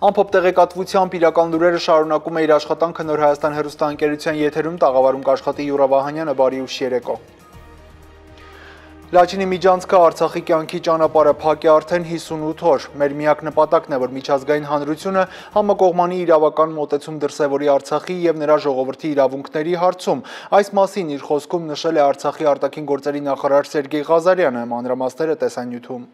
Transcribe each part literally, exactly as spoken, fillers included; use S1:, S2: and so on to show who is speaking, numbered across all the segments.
S1: Ամփոփ տեղեկատվությամբ իրական լուրերը շարունակում է իր աշխատանքը Նոր Հայաստան հեռուստաընկերության եթերում տաղավարում կաշխատի Յուրա Վահանյանը, բարի ուշ երեկո։ Լաչինի միջանցքը Արցախի կյանքի ճանապարհը փակ է արդեն հիսունութ օր։ Մեր միակ նպատակն է, որ միջազգային հանրությունը համակողմանի իրավական մոտեցում դրսևորի Արցախի եւ նրա ժողովրդի իրավունքների հարցում։ Այս մասին իր խոսքում նշել է Արցախի արտաքին գործերի նախարար Սերգեյ Ղազարյանը, մանրամասները տեսանյութում։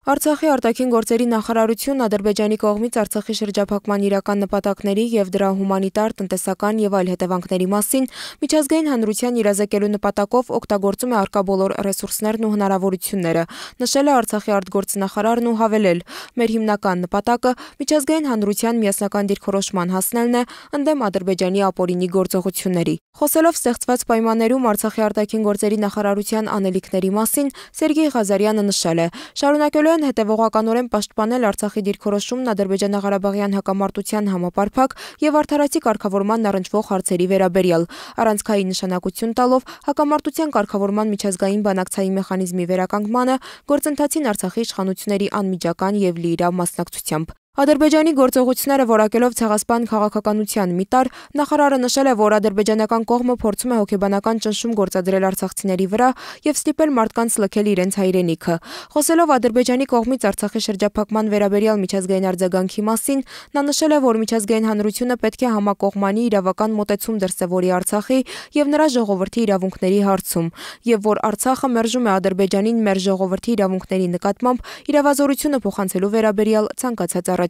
S2: Արցախի արտաքին գործերի նախարարությունն Ադրբեջանի կողմից Արցախի շրջափակման իրական նպատակների եւ դրա հումանիտար, տնտեսական եւ այլ հետևանքների մասին միջազգային հանրության իրազեկելու նպատակով օգտագործում է առկա բոլոր ռեսուրսներն ու հնարավորությունները, նշել է Արցախի արտգործնախարարն ու հավելել. Մեր հիմնական նպատակը միջազգային հանրության միասնական դիրքորոշման հասնելն է ընդդեմ Ադրբեջանի ապօրինի գործողությունների։ Խոսելով ստեղծված պայմաններում Արցախի արտաքին գործերի նախարարության անելիքների մասին, Սերգեյ Ղազարյանը նշել է. շարունակելու են հետևողականորեն պաշտպանել Արցախի դիրքորոշումն ադրբեջանա-ղարաբաղյան հակամարտության համապարփակ եւ արդարացի կարգավորման առնչվող հարցերի վերաբերյալ, առանցքային նշանակություն տալով հակամարտության կարգավորման միջազգային բանակցային մեխանիզմի վերականգմանը, գործընթացին Արցախի իշխանությունների անմիջական եւ լիիրավ մասնակցությամբ։ Ադրբեջանի գործողությունները որակելով ցեղասպան քաղաքականության մի տար, նախարարը նշել է, որ ադրբեջանական կողմը փորձում է հոգեբանական ճնշում գործադրել արցախցիների վրա եւ ստիպել մարդկանց լքել իրենց հայրենիքը։ Խոսելով Ադրբեջանի կողմից Արցախի շրջափակման վերաբերյալ միջազգային արձագանքի մասին, նա նշել է, որ միջազգային հանրությունը պետք է համակողմանի իրավական մոտեցում դրսևորի Արցախի եւ նրա ժողովրդի իրավունքների հարցում, եւ որ Արցախը մերժում է Ադրբեջանին մեր ժողովրդի իրավունքների նկատմամբ իրավազորությունը փոխանցելու վերաբերյալ ցանկացած առաջարկ։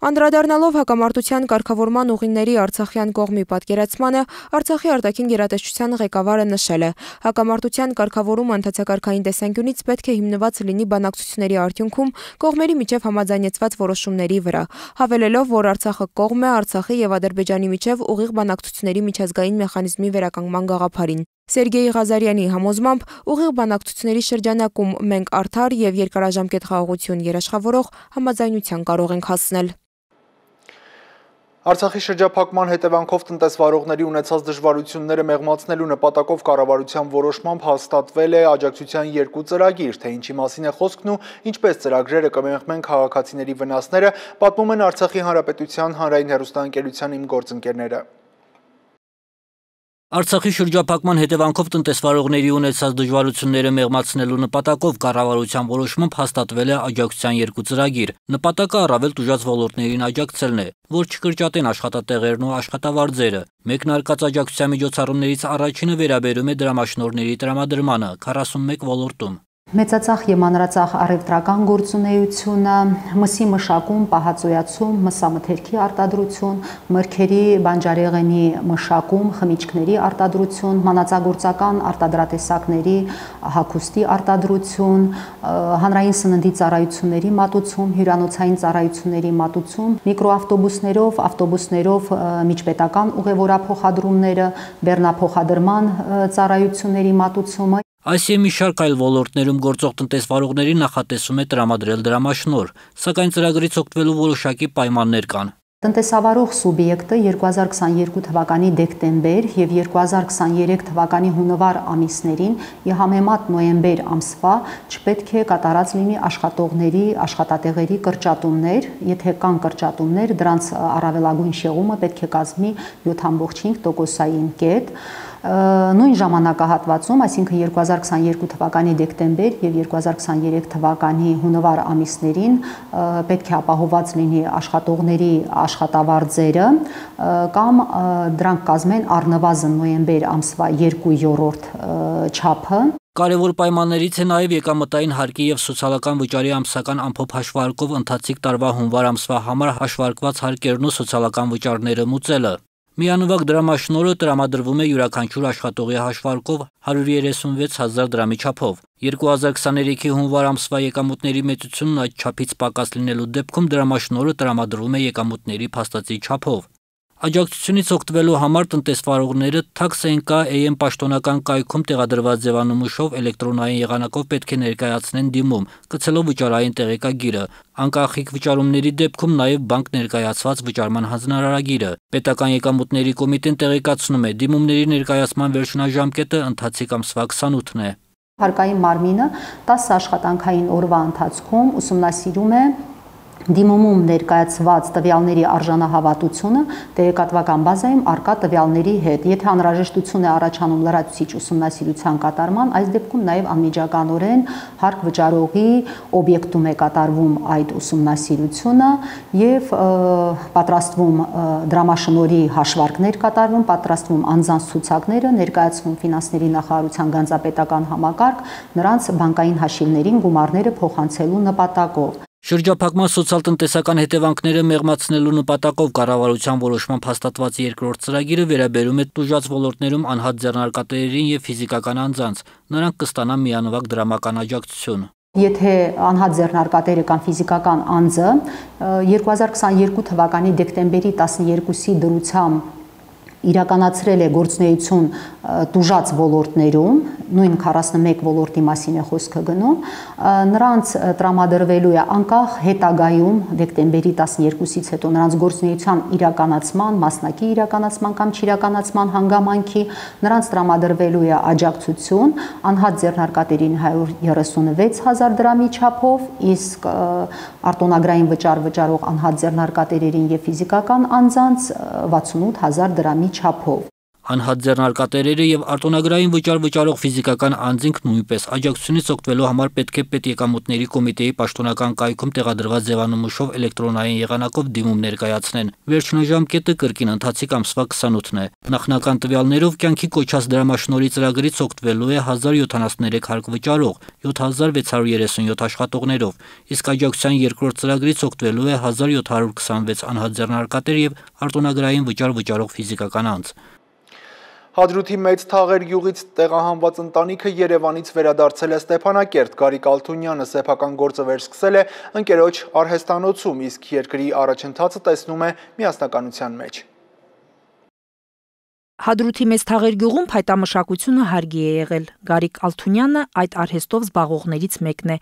S2: Անդրադառնալով հակամարտության կարգավորման ուղիների Արցախյան կողմի պատկերացմանը, Արցախի արտաքին գերատեսչության ղեկավարը նշել է. հակամարտության կարգավորումը ընդհանցակարգային տեսանկյունից պետք է հիմնված լինի բանակցությունների արդյունքում կողմերի միջև համաձայնեցված որոշումների վրա, հավելելով, որ Արցախը կողմ է Արցախի եւ Ադրբեջանի միջև ուղիղ բանակցությունների միջազգային մեխանիզմի վերականգնման գաղափարին։ Սերգեյ Ղազարյանի համոզմամբ ուղիղ բանակցությունների շրջանակում մենք արդար եւ երկարաժամկետ խաղաղություն երաշխավորող համաձայնության կարող ենք հասնել։
S1: Արցախի շրջափակման հետևանքով տնտեսվարողների ունեցած դժվարությունները մեղմացնելու նպատակով կառավարության որոշմամբ հաստատվել է աջակցության երկու ծրագիր, թե ինչի մասին է խոսքն ու ինչպես ծրագրերը կմեղմեն քաղաքացիների վնասները, պատմում են Արցախի Հանրապետության հանրային հեռուստաընկերության իմ գործընկերները։
S3: Արցախի շրջափակման հետևանքով տնտեսվարողների ունեցած դժվարությունները մեղմացնելու նպատակով կառավարության որոշմամբ հաստատվել է աջակցության երկու ծրագիր։ Նպատակը առավել տուժած ոլորտներին աջակցելն է, որ չկրճատեն աշխատատեղերն ու աշխատավարձերը։ Մեկնարկած աջակցության միջոցառումներից առաջինը վերաբերում է դրամաշնորհների տրամադրմանը քառասունմեկ ոլորտում։
S4: Մեծածախ եւ մանրածախ առևտրական գործունեությունը, մսի մշակում, պահածոյացում, մսամթերքի արտադրություն, մրգերի, բանջարեղենի մշակում, խմիչքների արտադրություն, մանածագործական արտադրատեսակների հագուստի արտադրություն, հանրային սննդի ծառայությունների մատուցում, հյուրանոցային ծառայությունների մատուցում, միկրոավտոբուսներով, ավտոբուսներով միջպետական ուղևորափոխադրումները, բեռնափոխադրման ծառայությունների մատուցումը։
S3: Այս եւ մի շարք այլ ոլորտներում գործող տնտեսվարողներին նախատեսում է տրամադրել դրամաշնորհ, սակայն ծրագրից օգտվելու որոշակի պայմաններ կան։
S4: Տնտեսավարող սուբյեկտը երկու հազար քսաներկու թվականի դեկտեմբեր եւ երկու հազար քսաներեք թվականի հունվար ամիսներին ի համեմատ նոյեմբեր ամսվա չպետք է կատարած լինի աշխատողների աշխատատեղերի կրճատումներ, եթե կան կրճատումներ, դրանց առավելագույն շեղումը պետք է կազմի յոթ ամբողջ հինգ տոկոսային կետ։ Նույն ժամանակահատվածում, այսինքն երկու հազար քսաներկու թվականի դեկտեմբեր եւ երկու հազար քսաներեք թվականի հունվար ամիսներին պետք է ապահովված լինի աշխատողների աշխատավարձերը կամ դրանք կազմեն առնվազն նոյեմբեր ամսվա երկու երրորդ չափը։
S3: Կարևոր պայմաններից է նաև եկամտային հարկի եւ սոցիալական վճարի ամսական ամփոփ հաշվարկով ընթացիկ տարվա հունվար ամսվա համար հաշվարկված հարկերն ու սոցիալական վճարները մուծելը։ Միանվագ դրամաշնորհը տրամադրվում է յուրաքանչյուր աշխատողի հաշվարկով հարյուր երեսունվեց հազար դրամի չափով։ երկու հազար քսաներեքի հունվար ամսվա եկամուտների մեծությունն այդ չափից պակաս լինելու դեպքում դրամաշնորհը տրամադրվում է եկամուտների փաստացի չափով։ Աջակցությունից օգտվելու համար տնտեսվարողները Tax.nk A M պաշտոնական կայքում տեղադրված ձևանմուշով էլեկտրոնային եղանակով պետք է ներկայացնեն դիմում, գցելով վճարային տեղեկագիրը, անկախիկ վճարումների դեպքում նաև բանկ ներկայացված վճարման հանձնարարագիրը։ Պետական եկամուտների կոմիտեն տեղեկացնում է, դիմումների ներկայացման վերջնաժամկետը ընթացիկ ամսվա քսանութն է։
S4: Հարկային մարմինը տասը աշխատանքային օրվա ընթացքում ուսումնասիրում է Դիմումում ներկայացված տվյալների արժանահավատությունը տեղեկատվական բազայում առկա տվյալների հետ։ Եթե անհրաժեշտություն է առաջանում լրացուցիչ ուսումնասիրության կատարման, այս դեպքում նաև անմիջականորեն հարկ վճարողի օբյեկտում է կատարվում այդ ուսումնասիրությունը եւ պատրաստվում դրամաշնորհի հաշվարկներ կատարվում, պատրաստվում անձանց ցուցակները, ներկայացվում ֆինանսների նախարարության գանձապետական համակարգ, նրանց բանկային հաշիվներին գումարները փոխանցելու նպատակով։
S3: Շրջափակման սոցիալ-տնտեսական հետևանքները մեղմացնելու նպատակով կառավարության որոշմամբ հաստատված երկրորդ ծրագիրը վերաբերում է տուժած ոլորտներում անհատ ձեռնարկատերերին եւ ֆիզիկական անձանց։ Նրանք կստանան միանվագ դրամական աջակցություն։
S4: Եթե անհատ ձեռնարկատերը կամ ֆիզիկական անձը երկու հազար քսաներկու թվականի դեկտեմբերի տասներկուսի դրությամբ իրականացրել է գործունեություն տուժած ոլորտներում, նույն քառասնմեկ ոլորտի մասին է խոսքը գնում, նրանց տրամադրվելու է անկախ հետագայում դեկտեմբերի տասներկուսից հետո նրանց գործունեության իրականացման, մասնակի իրականացման կամ չիրականացման հանգամանքի նրանց տրամադրվելու է աջակցություն անհատ ձեռնարկատերին հարյուր երեսունվեց հազար դրամի չափով, իսկ արտոնագրային վճար վճարող անհատ ձեռնարկատերերին եւ ֆիզիկական անձանց վաթսունութ հազար դրամի չափով։
S3: Անհատ ձեռնարկատերերը եւ արտոնագրային վճար վճարող ֆիզիկական անձինք նույնպես աջակցությունից օգտվելու համար պետք է պետեկամուտների կոմիտեի պաշտոնական կայքում տեղադրված ձևանմուշով էլեկտրոնային եղանակով դիմում ներկայացնեն։ Վերջնաժամկետը կրկին ընթացիկ ամսվա քսանութն է։ Նախնական տվյալներով կյանքի կոչած դրամաշնորհի ծրագրից օգտվելու է հազար յոթանասուններեք հարկ վճարող, յոթ հազար վեց հարյուր երեսունյոթ աշխատողներով, իսկ աջակցության երկրորդ ծրագրից օգտվելու է հազար յոթ հարյուր քսանվեց անհատ ձեռնարկատեր եւ արտոնագրային վճար վճարող ֆիզիկական անձ։
S1: Հադրութի Մեծ Թաղեր գյուղից տեղահանված ընտանիքը Երևանից վերադարձել է Ստեփանակերտ։ Գարիկ Ալթունյանը սեփական գործը վերսկսել է ընկերոջ արհեստանոցում, իսկ երկրի առաջընթացը տեսնում է միասնականության մեջ։
S5: Հադրութի Մեծ Թաղեր գյուղում փայտամշակությունը հարգի է եղել։ Գարիկ Ալթունյանը այդ արհեստով զբաղողներից մեկն է։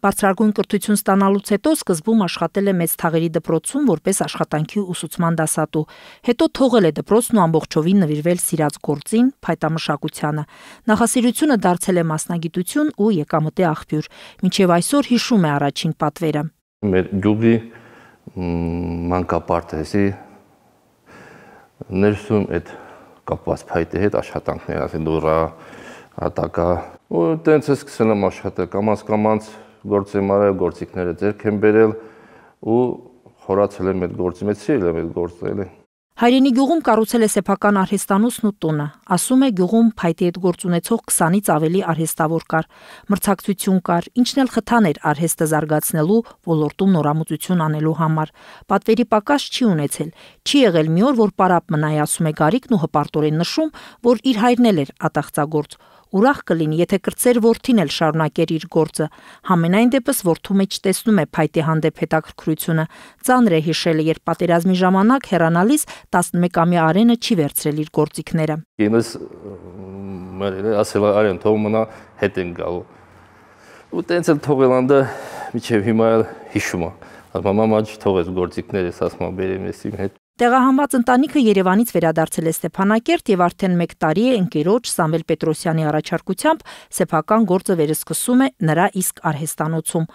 S5: Բարձրագույն կրթություն ստանալուց հետո սկզբում աշխատել է Մեծ Թաղերի դպրոցում որպես աշխատանքի ուսուցման դասատու։ Հետո թողել է դպրոցն ու ամբողջովին նվիրվել սիրած գործին, փայտամշակությանը։ Նախասիրությունը դարձել է մասնագիտություն ու եկամտի աղբյուր։ Մինչև այսօր հիշում է առաջին պատվերը։
S6: Մեր գյուղի մանկապարտեզի ներսում այդ կապված փայտի հետ աշխատանքներ, ասեն դուրա, հատակա, ու տենց է սկսել եմ աշխատել, կամաց-կամաց գործ եմ արել, գործիքները ձեռք եմ բերել ու խորացել եմ այդ գործի մեջ, սիրել եմ այդ գործը էլի։
S5: Հայրենի գյուղում կառուցել է սեփական արհեստանոցն ու տունը։ Ասում է գյուղում փայտի հետ գործ ունեցող քսանից ավելի արհեստավոր կար, մրցակցություն կար, ինչն էլ խթան էր արհեստը զարգացնելու, ոլորտում նորամուծություն անելու համար։ Պատվերի պակաս չի ունեցել։ Չի եղել մի օր, որ պարապ մնայի, ասում է Գարիկն ու հպարտորեն նշում, որ իր հայրն էլ էր ատաղծագործ։ Ուրախ կլինի, եթե կրտսեր որդին էլ շարունակեր իր գործը։ Համենայն դեպս որդու մեջ տեսնում է փայտի հանդեպ հետաքրքրությունը։ Ծանր է հիշել, երբ պատերազմի ժամանակ հեռանալիս տասնմեկամյա Արենը չի վերցրել իր գործիքները։
S6: Ինձ ասել Արեն, թող մնա, հետ են գալու։ Ու տենց էլ թողել անդը միջև հիմա էլ հիշում է։ Ասում մամա չթողես գործիքներս, ասում բերեմ ես իմ հետ։
S5: Տեղահանված ընտանիքը Երևանից վերադարձել է Ստեփանակերտ եւ արդեն մեկ տարի է ընկերոջ Սամվել Պետրոսյանի առաջարկությամբ սեփական գործը վերսկսում է նրա իսկ արհեստանոցում։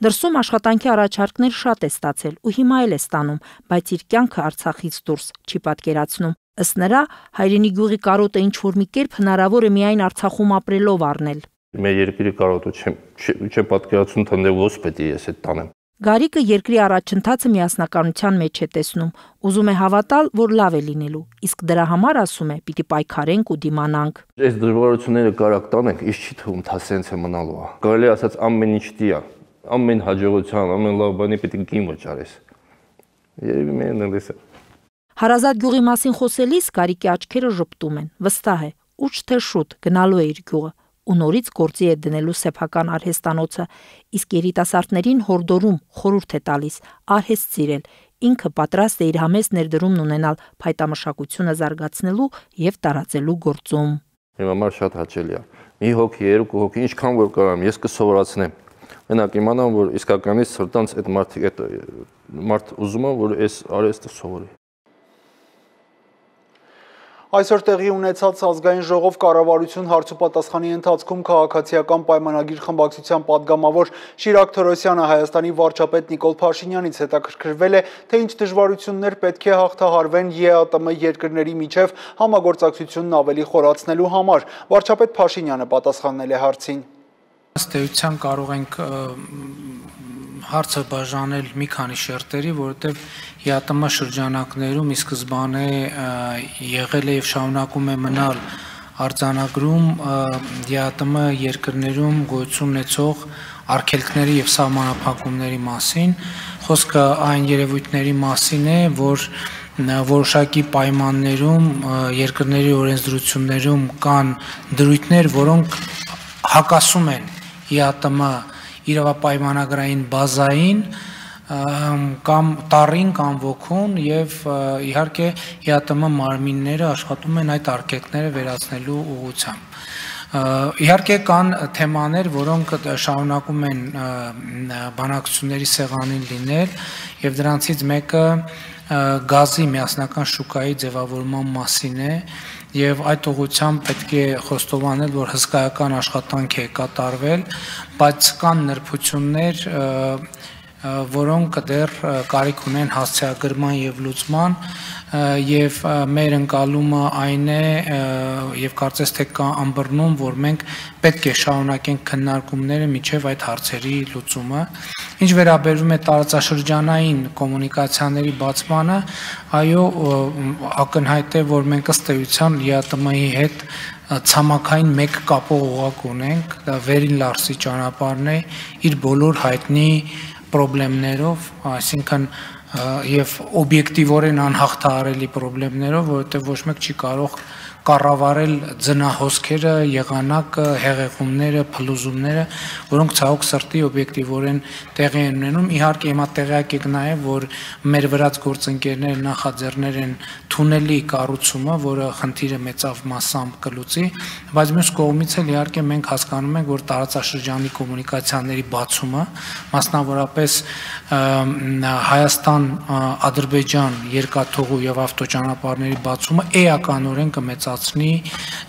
S5: Դրսում աշխատանքի առաջարկներ շատ է ստացել ու հիմա էլ է ստանում, բայց իր կյանքը Արցախից դուրս չի պատկերացնում։ Ըստ նրա, հայրենի գյուղի կարոտը ինչ-որ մի կերպ հնարավոր է միայն Արցախում ապրելով առնել։
S6: Մեր երկրի կարոտը չեմ պատկերացնում, թե ո՞ս պետք է ես այդ տանեմ։
S5: Գարիկը երկրի առաջընթացը միասնականության մեջ է տեսնում, ուզում է հավատալ, որ լավ է լինելու, իսկ դրա համար, ասում է, պիտի պայքարենք ու դիմանանք։
S6: Այս դժվարությունները կարակ տանենք, իս չի թվում, թա սենց է մնալու է։ Կարելի ասած ամեն ինչ դիա, ամեն հաջողության, ամեն լավ բանի պետք է գին վճարես։ Երևի մենն էլ է։
S5: Հարազատ գյուղի մասին խոսելիս Գարիկի աչքերը ժպտում են, վստահ է, ուչ թե շուտ գնալու է իր գյուղը ու նորից գործի է դնելու սեփական արհեստանոցը, իսկ երիտասարդներին հորդորում խորհուրդ է տալիս արհեստ սիրել, ինքը պատրաստ է իր համեստ ներդրումն ունենալ փայտամշակությունը զարգացնելու եւ տարածելու գործում։
S6: Իմ համար շատ հաճելի է։ Մի հոգի, երկու հոգի, ինչքան որ կարամ, ես կսովորացնեմ։ Մենակ իմանամ, որ իսկականից սրտանց այդ մարդիկ այդ մարդ ուզում է, որ այս արհեստը սովորի։
S1: Այսօր տեղի ունեցած ազգային ժողով կառավարություն հարցուպատասխանի ընթացքում քաղաքացիական պայմանագիր խմբակցության падգամավոր Շիրակ Թորոսյանը Հայաստանի վարչապետ Նիկոլ Փաշինյանից հետաքրքրվել է, թե ինչ դժվարություններ պետք է հաղթահարվեն ԵԱՏՄ երկրների միջև համագործակցությունն ավելի խորացնելու համար։ Վարչապետ Փաշինյանը պատասխանել է հարցին։
S7: Ըստ էության կարող ենք հարցը բաժանել մի քանի շերտերի, որովհետև ԵԱՏՄ շրջանակներում ի սկզբանե եղել է եւ շարունակում է մնալ արձանագրում ԵԱՏՄ երկրներում գոյություն ունեցող արգելքների եւ սահմանափակումների մասին, խոսքը այն երևույթների մասին է, որ որոշակի պայմաններում երկրների օրենսդրություններում կան դրույթներ, որոնք հակասում են ԵԱՏՄ իրավապայմանագրային բազային կամ տառին կամ ոգուն եւ իհարկե ԵԱՏՄ մարմինները աշխատում են այդ արգելքները վերացնելու ուղղությամբ։ Իհարկե կան թեմաներ, որոնք շարունակում են բանակցությունների սեղանին լինել եւ դրանցից մեկը գազի միասնական շուկայի ձևավորման մասին է եւ այդ ուղղությամբ պետք է խոստովանել, որ հսկայական աշխատանք է կատարվել, բայց կան նրբություններ, որոնք դեռ կարիք ունեն հասցեագրման եւ լուծման եւ մեր ընկալումը այն է եւ կարծես թե կա ըմբռնում, որ մենք պետք է շարունակենք քննարկումները միջև այդ հարցերի լուծումը։ Ինչ վերաբերում է տարածաշրջանային կոմունիկացիաների բացմանը, այո, ակնհայտ է, որ մենք ըստ էության ԵԱՏՄ-ի հետ ցամաքային մեկ կապող օղակ ունենք, դա Վերին Լարսի ճանապարհն է, իր բոլոր հայտնի խնդիրներով, այսինքն եւ օբյեկտիվորեն անհաղթահարելի խնդիրներով, որովհետեւ ոչ մեկ չի կարող կառավարել ձնահոսքերը, եղանակը, հեղեղումները, փլուզումները, որոնք ցավոք սրտի օբյեկտիվորեն տեղի են ունենում։ Իհարկե հիմա տեղյակ եք նաև, որ մեր վրաց գործընկերները նախաձեռնել են թունելի կառուցումը, որը խնդիրը մեծավ մասամբ կլուծի, բայց մյուս կողմից էլ իհարկե մենք հասկանում ենք, որ տարածաշրջանի կոմունիկացիաների բացումը, մասնավորապես Հայաստան-Ադրբեջան երկաթուղու եւ ավտոճանապարհների բացումը էականորեն կմեծացնի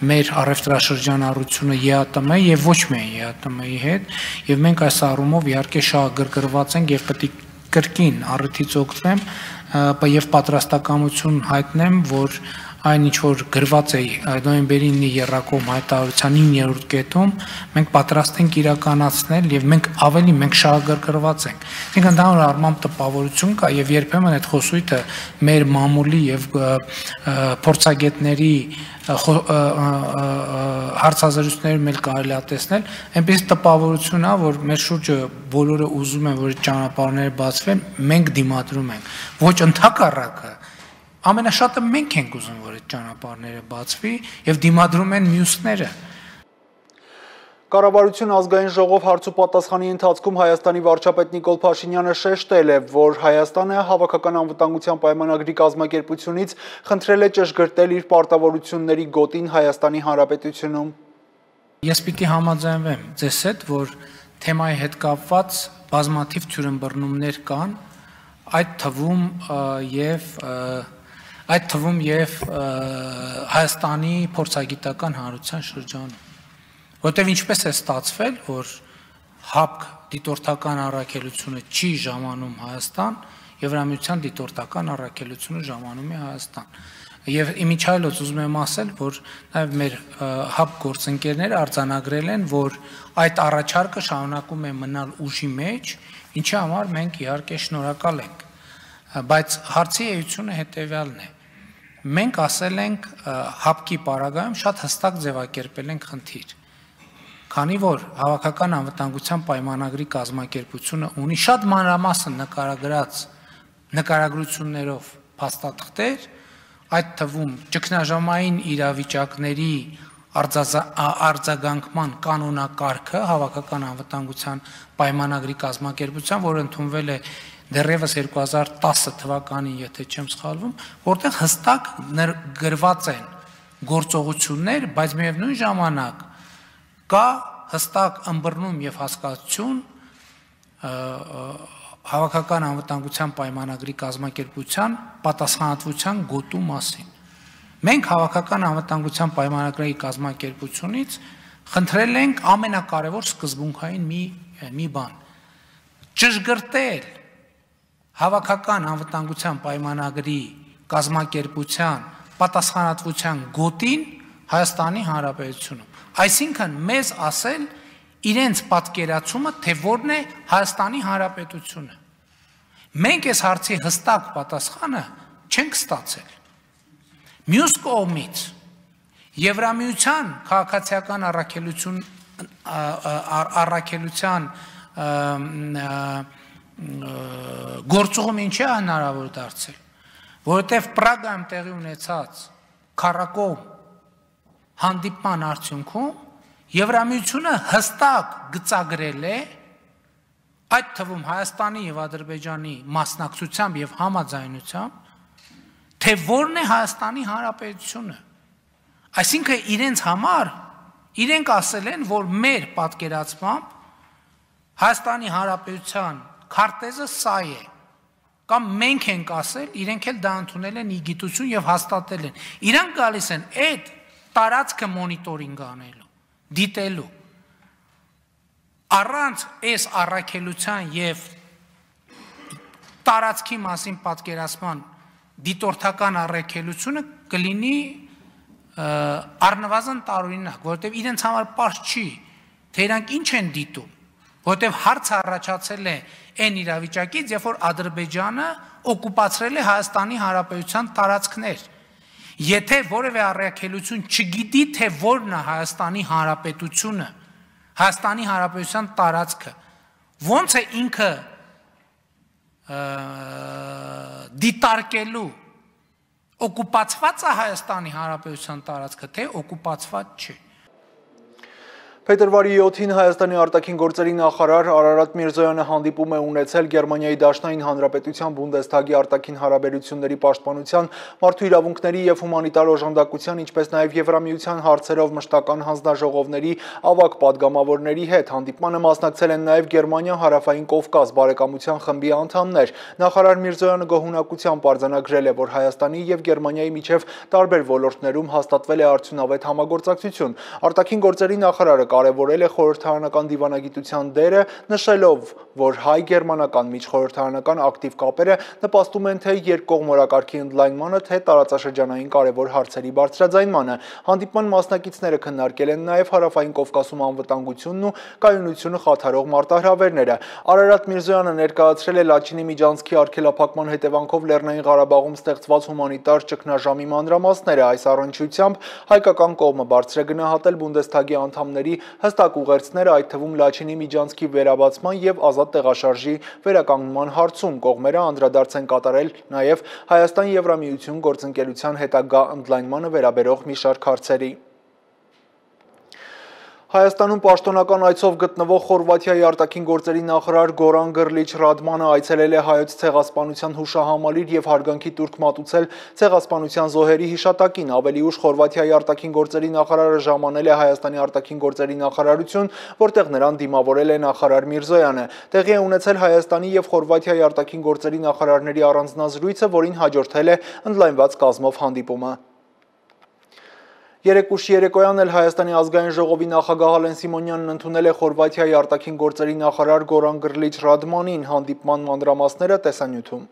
S7: մեր առևտրաշրջանառությունը ԵԱՏՄ եւ ոչ միայն ԵԱՏՄ-ի հետ, եւ մենք այս առումով իհարկե շահագրգռված ենք եւ պետք է կրկին առիթից օգտվեմ եւ պատրաստակամություն հայտնեմ, որ այն ինչ որ գրված է նոյեմբերի ինը եռակողմ հայտարարության իններորդ կետում, մենք պատրաստ ենք իրականացնել եւ մենք ավելի մենք շահագրգռված ենք։ Մենք ընդհանուր առմամբ տպավորություն կա եւ երբեմն այդ խոսույթը մեր մամուլի եւ փորձագետների հարցազրույցներում էլ կարելի է տեսնել, այնպես տպավորություն է, որ մեր շուրջը բոլորը ուզում են, որ ճանապարհները բացվեն, մենք դիմադրում ենք։ Ոչ ընդհակառակը Ամենաշատը մենք ենք ուզում, որ այդ ճանապարհները բացվի եւ դիմադրում են մյուսները։
S1: Կառավարություն ազգային ժողով հարցուպատասխանի ընթացքում Հայաստանի վարչապետ Նիկոլ Փաշինյանը շեշտել է, որ Հայաստանը հավաքական անվտանգության պայմանագրի կազմակերպությունից խնդրել է ճշգրտել իր պարտավորությունների գոտին Հայաստանի Հանրապետությունում։
S7: Ես պիտի համաձայնվեմ ձեզ հետ, որ թեմայի հետ կապված բազմաթիվ թյուրըմբռնումներ կան, այդ թվում եւ այդ թվում եւ Հայաստանի փորձագիտական հանրության շրջանում, որտեղ ինչպես է ստացվել, որ ՀԱՊԿ դիտորդական առաքելությունը չի ժամանում Հայաստան, Եվրամիության դիտորդական առաքելությունը ժամանում է Հայաստան։ Եվ իմիջայլոց ուզում եմ ասել, որ նաև մեր ՀԱՊԿ գործընկերները արձանագրել են, որ այդ առաջարկը շարունակում է մնալ ուժի մեջ, ինչի համար մենք իհարկե շնորհակալ ենք։ Բայց հարցի էությունը հետևյալն է։ Մենք ասել ենք ՀԱՊԿ-ի պարագայում շատ հստակ ձևակերպել ենք խնդիր։ Քանի որ հավաքական անվտանգության պայմանագրի կազմակերպությունը ունի շատ մանրամասն նկարագրած նկարագրություններով փաստաթղթեր, այդ թվում ճգնաժամային իրավիճակների արձագանքման կանոնակարգը հավաքական անվտանգության պայմանագրի կազմակերպության, որը ընդունվել է դեռևս երկու հազար տասը թվականին, եթե չեմ սխալվում, որտեղ հստակ գրված են գործողություններ, բայց միևնույն ժամանակ կա հստակ ըմբռնում եւ հասկացություն հավաքական անվտանգության պայմանագրի կազմակերպության պատասխանատվության գոտու մասին։ Մենք Հավաքական անվտանգության պայմանագրի կազմակերպությունից խնդրել ենք ամենակարևոր սկզբունքային մի մի բան՝ ճշգրտել Հավաքական անվտանգության պայմանագրի կազմակերպության պատասխանատվության գոտին Հայաստանի Հանրապետությունում։ Այսինքն մեզ ասել իրենց պատկերացումը, թե որն է Հայաստանի Հանրապետությունը։ Մենք այս հարցի հստակ պատասխանը չենք ստացել։ Մյուս կողմից Եվրամիության քաղաքացիական առաքելություն առաքելության գործողում ինչ է հնարավոր դարձել, որովհետև Պրագայում տեղի ունեցած քառակողմ հանդիպման արդյունքում Եվրամիությունը հստակ գծագրել է, այդ թվում Հայաստանի եւ Ադրբեջանի մասնակցությամբ եւ համաձայնությամբ, թե որն է Հայաստանի Հանրապետությունը։ Այսինքն իրենց համար իրենք ասել են, որ մեր պատկերացմամբ Հայաստանի Հանրապետության քարտեզը սա է, կամ մենք ենք ասել, իրենք էլ դա ընդունել են իգիտություն եւ հաստատել են։ Իրանք գալիս են այդ տարածքը մոնիտորինգ անելու, դիտելու։ Առանց այս առաքելության եւ տարածքի մասին պատկերացման դիտորդական առաքելությունը կլինի առնվազն տարօրինակ, որովհետեւ իրենց համար պարզ չի, թե իրանք ինչ են դիտում, որովհետեւ հարց առաջացել է այն իրավիճակից, երբ որ Ադրբեջանը օկուպացրել է Հայաստանի Հանրապետության տարածքներ։ Եթե որևէ առաքելություն չգիտի, թե որն է Հայաստանի Հանրապետությունը, Հայաստանի Հանրապետության տարածքը, ոնց է ինքը դիտարկելու օկուպացված է Հայաստանի Հանրապետության տարածքը, թե օկուպացված չի։
S1: Փետրվարի յոթին Հայաստանի արտաքին գործերի նախարար Արարատ Միրզոյանը հանդիպում է ունեցել Գերմանիայի Դաշնային Հանրապետության Բունդեսթագի արտաքին հարաբերությունների պաշտպանության, մարդու իրավունքների եւ հումանիտար օժանդակության, ինչպես նաեւ Եվրամիության հարցերով մշտական հանձնաժողովների ավագ падգամավորների հետ։ Հանդիպմանը մասնակցել են նաեւ Գերմանիա, Հարավային Կովկաս բարեկամության խմբի անդամներ։ Նախարար Միրզոյանը գոհունակությամբ արձանագրել է, որ Հայաստանի եւ Գերմանիայի միջև տարբեր ոլորտներում հաստատվել է արդյունավետ համագործակցություն։ Արտաքին գործերի նախարարը կարևորել է խորհրդարանական դիվանագիտության դերը, նշելով, որ հայ-գերմանական միջխորհրդարանական ակտիվ կապերը նպաստում են թե երկկողմ օրակարգի ընդլայնմանը, թե տարածաշրջանային կարևոր հարցերի բարձրաձայնմանը։ Հանդիպման մասնակիցները քննարկել են նաև Հարավային Կովկասում անվտանգությունն ու կայունությունը խաթարող մարտահրավերները։ Արարատ Միրզոյանը ներկայացրել է Լաչինի միջանցքի արգելափակման հետևանքով Լեռնային Ղարաբաղում ստեղծված հումանիտար ճգնաժամի մանրամասները։ Այս առնչությամբ հայկական կողմը բարձր է գնահատել Բունդեսթագի անդամների հստակ ուղերձները, այդ թվում Լաչինի միջանցքի վերաբացման եւ ազատ տեղաշարժի վերականգնման հարցում։ Կողմերը անդրադարձ են կատարել նաեւ Հայաստան-Եվրամիություն գործընկերության հետագա ընդլայնմանը վերաբերող մի շարք հարցերի։ Հայաստանում պաշտոնական այցով գտնվող Խորվաթիայի արտաքին գործերի նախարար Գորան Գրլիչ Ռադմանը այցելել է հայոց ցեղասպանության հուշահամալիր եւ հարգանքի տուրք մատուցել ցեղասպանության զոհերի հիշատակին։ Ավելի ուշ Խորվաթիայի արտաքին գործերի նախարարը ժամանել է Հայաստանի արտաքին գործերի նախարարություն, որտեղ նրան դիմավորել է նախարար Միրզոյանը։ Տեղի է ունեցել Հայաստանի եւ Խորվաթիայի արտաքին գործերի նախարարների առանձնազրույցը, որին հաջորդել է ընդլայնված կազմով հանդիպումը։ Երեկ ուշ երեկոյան էլ Հայաստանի ազգային ժողովի նախագահ Ալեն Սիմոնյանն ընդունել է Խորվաթիայի արտաքին գործերի նախարար Գորան Գրլիչ Ռադմանին։ Հանդիպման մանրամասները տեսանյութում։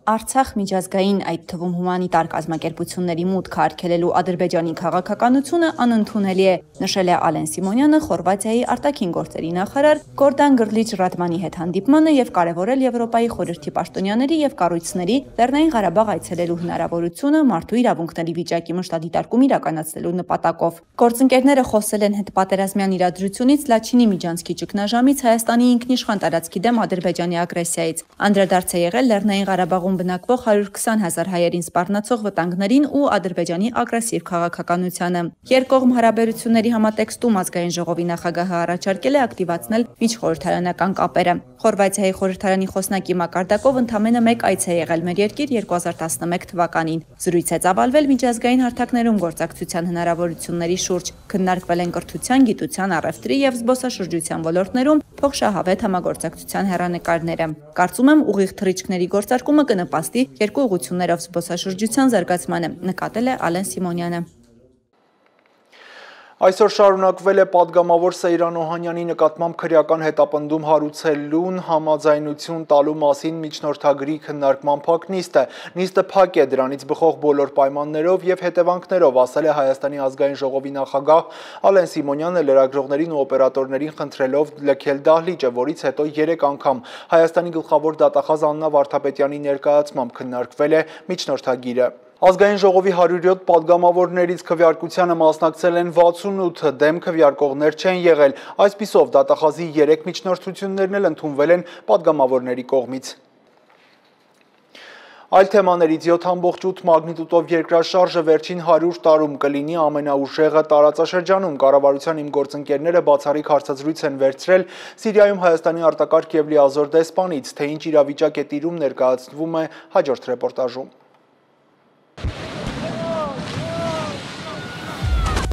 S4: Արցախ միջազգային, այդ թվում հումանիտար կազմակերպությունների մուտքը արգելելու Ադրբեջանի քաղաքականությունը անընդունելի է, նշել է Ալեն Սիմոնյանը Խորվաթիայի արտաքին գործերի նախարար Գորդան Գրլիչ Ռադմանի հետ հանդիպմանը եւ կարեւորել Եվրոպայի խորհրդի պաշտոնյաների եւ կառույցների Լեռնային Ղարաբաղ այցելելու հնարավորությունը մարդու իրավունքների վիճակի մշտադիտարկում իրականացնելու նպատակով։ Գործընկերները խոսել են հետպատերազմյան իրադրությունից Լաչինի միջանցքի ճգնաժամից Հայաստանի ինքնիշխան տարածքի դեմ Ադրբեջանի ագրեսիայից։ Անդրադարձ է եղել Լեռնային Ղարաբաղում բնակվող հարյուր քսան հազար հայերին սպառնացող վտանգներին ու Ադրբեջանի ագրեսիվ քաղաքականությանը։ Երկկողմ հարաբերությունների համատեքստում ազգային ժողովի նախագահը առաջարկել է ակտիվացնել միջխորհրդարանական կապերը։ Խորվաթիայի խորհրդարանի խոսնակի մակարդակով ընդամենը մեկ այց է եղել մեր երկիր երկու հազար տասնմեկ թվականին։ Զրույց է ծավալվել միջազգային հարթակներում գործակցության հնարավորությունների շուրջ, քննարկվել են կրթության, գիտության, առևտրի եւ զբոսաշրջության ոլորտներում
S8: փոխշահավետ համագործակցության հեռանկարները։ Կարծում եմ, ուղիղ թռիչքների գործարկումը կնպաստի երկու ուղղություններով զբոսաշրջության զարգացմանը, նկատել է Ալեն Սիմոնյանը։
S1: Այսօր շարունակվել է պատգամավոր Սեյրան Օհանյանի նկատմամբ քրեական հետապնդում հարուցելուն համաձայնություն տալու մասին միջնորդագրի քննարկման փակ նիստը։ Նիստը փակ է դրանից բխող բոլոր պայմաններով և հետևանքներով, ասել է Հայաստանի ազգային ժողովի նախագահ Ալեն Սիմոնյանը, լրագրողներին ու օպերատորներին խնդրելով լքել դահլիճը, որից հետո երեք անգամ Հայաստանի գլխավոր դատախազ Աննա Վարդապետյանի ներկայացմամբ քննարկվել է միջնորդագիրը։ Ազգային ժողովի հարյուրյոթ պատգամավորներից քվեարկությանը մասնակցել են վաթսունութ, դեմ քվեարկողներ չեն եղել, այսպիսով դատախազի երեք միջնորդություններն էլ ընդունվել են պատգամավորների կողմից։ Այլ թեմաներից յոթ ամբողջ ութ մագնիտուդով երկրաշարժը վերջին հարյուր տարում կլինի ամենաուժեղը տարածաշրջանում։ Կառավարության իմ գործընկերները բացառիկ հարցազրույց են վերցրել Սիրիայում Հայաստանի արտակարգ և լիազոր դեսպանից, թե ինչ իրավիճակ է տիրում, ներկայացվում է հաջորդ ռեպորտաժում։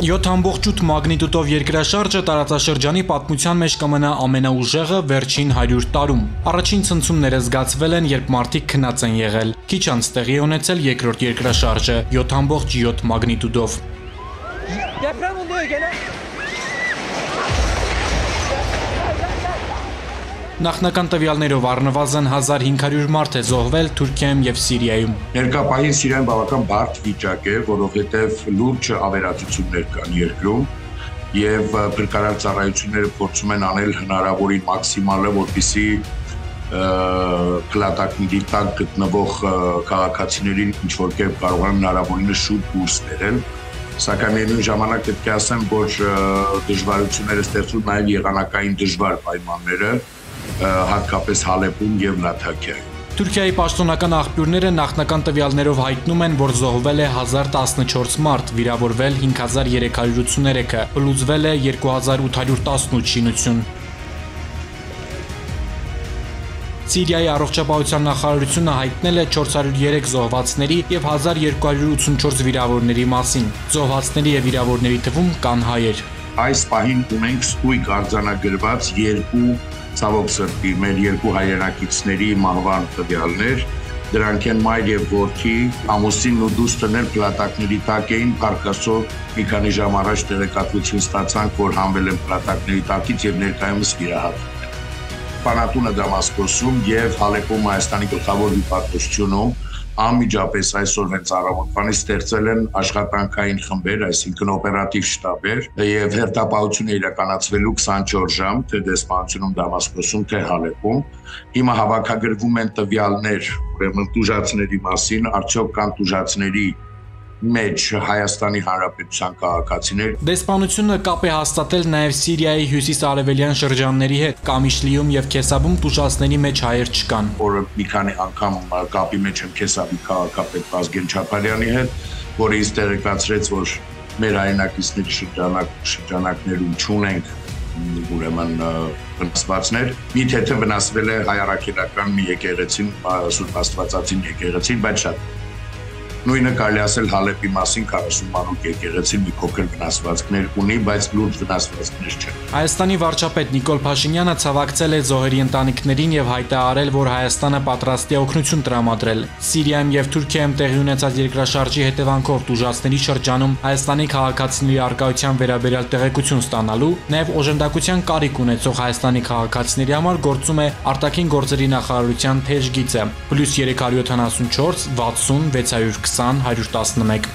S9: յոթ ամբողջ ութ մագնիտուդով երկրաշարժը տարածաշրջանի պատմության մեջ կմնա ամենաուժեղը վերջին հարյուր տարում։ Առաջին ցնցումները զգացվել են, երբ մարդիկ քնած են եղել։ Քիչ անց տեղի է ունեցել երկրորդ երկրաշարժը յոթ ամբողջ յոթ մագնիտուդով։ Նախնական տվյալներով առնվազն հազար հինգ հարյուր մարդ է զոհվել Թուրքիայում և Սիրիայում։
S10: Ներկայումս Սիրիայում բավական բարդ վիճակ է, որովհետև լուրջ ավերածություններ կան երկրում եւ փրկարար ծառայությունները փորձում են անել հնարավորին մաքսիմալը, որպեսզի կլատակների տակ գտնվող քաղաքացիներին ինչ-որ կերպ կարողանան հնարավորինս շուտ դուրս բերել։ Սակայն միևնույն ժամանակ պետք է ասեմ, որ դժվարությունները ստեղծում նաև եղանակային դժվար պայմանները, հատկապես Հալեպում և Լաթաքիայում։
S9: Թուրքիայի պաշտոնական աղբյուրները նախնական տվյալներով հայտնում են, որ զոհվել է հազար տասնչորս մարդ, վիրավորվել հինգ հազար երեք հարյուր ութսուներեքը, բլուզվել է երկու հազար ութ հարյուր տասնութ շինություն։ Սիրիայի առողջապահության նախարարությունը հայտնել է չորս հարյուր երեք զոհվածների և հազար երկու հարյուր ութսունչորս վիրավորների մասին։ Զոհվածների և վիրավորների թվում կան հայեր։
S10: Այս պահին ունենք ստույգ արձանագրված երկու ցավոք սրտի մեր երկու հայրենակիցների մահվան տվյալներ, դրանք են մայր եւ որդի, ամուսինն ու դուստրն էլ պլատակների տակ էին, Փարքասո մի քանի ժամ առաջ տեղեկատվություն ստացանք, որ հանվել են պլատակների տակից եւ ներկայումս վիրահատվել են։ Պանատունը Դամասկոսում եւ Հալեպում Հայաստանի գլխավոր դիպարտությունում անմիջապես այսօր հենց առավոտվանից ստեղծել են աշխատանքային խմբեր, այսինքն օպերատիվ շտաբեր եւ հերթապահություն է իրականացվելու քսանչորս ժամ թե դեսպանությունում Դամասկոսում, թե Հալեպում։ Հիմա հավաքագրվում են տվյալներ, ուրեմն տուժածների մասին, արդյոք կան տուժածների մեջ Հայաստանի Հանրապետության քաղաքացիներ։
S9: Դեսպանությունը կապ է հաստատել նաև Սիրիայի հյուսիս-արևելյան շրջանների հետ, Կամիշլիում եւ Քեսաբում տուժածների մեջ հայեր չկան։
S10: Որը մի քանի անգամ կապի մեջ եմ Քեսաբի քաղաքապետ Վազգեն Չապարյանի հետ, որը ինձ տեղեկացրեց, որ մեր հայրենակիցների շրջանակ շրջանակներում չունենք ուրեմն վնասվածներ։ Մի թեթև վնասվել է հայ առաքելական մի եկեղեցին, Սուրբ Աստվածածին եկեղեցին, բայց շատ Նույնը կարելի ասել Հալեպի մասին քառասուն մանուկ եկեղեցին մի փոքր վնասվածքներ ունի, բայց լուրջ վնասվածքներ չեն։
S9: Հայաստանի վարչապետ Նիկոլ Փաշինյանը ցավակցել է զոհերի ընտանիքներին եւ հայտարարել, որ Հայաստանը պատրաստ է օգնություն տրամադրել։ Սիրիայում եւ Թուրքիայում տեղի ունեցած երկրաշարժի հետևանքով տուժածների շրջանում Հայաստանի քաղաքացիների արկայության վերաբերյալ տեղեկություն ստանալու, նաեւ օժանդակության կարիք ունեցող Հայաստանի քաղաքացիների համար գործում է արտաքին գործերի նախարարության թեժ գիծը +երեք հարյուր յոթանասունչորս վաթսուն վեց հարյուր քսան հարյուր տասնմեկ։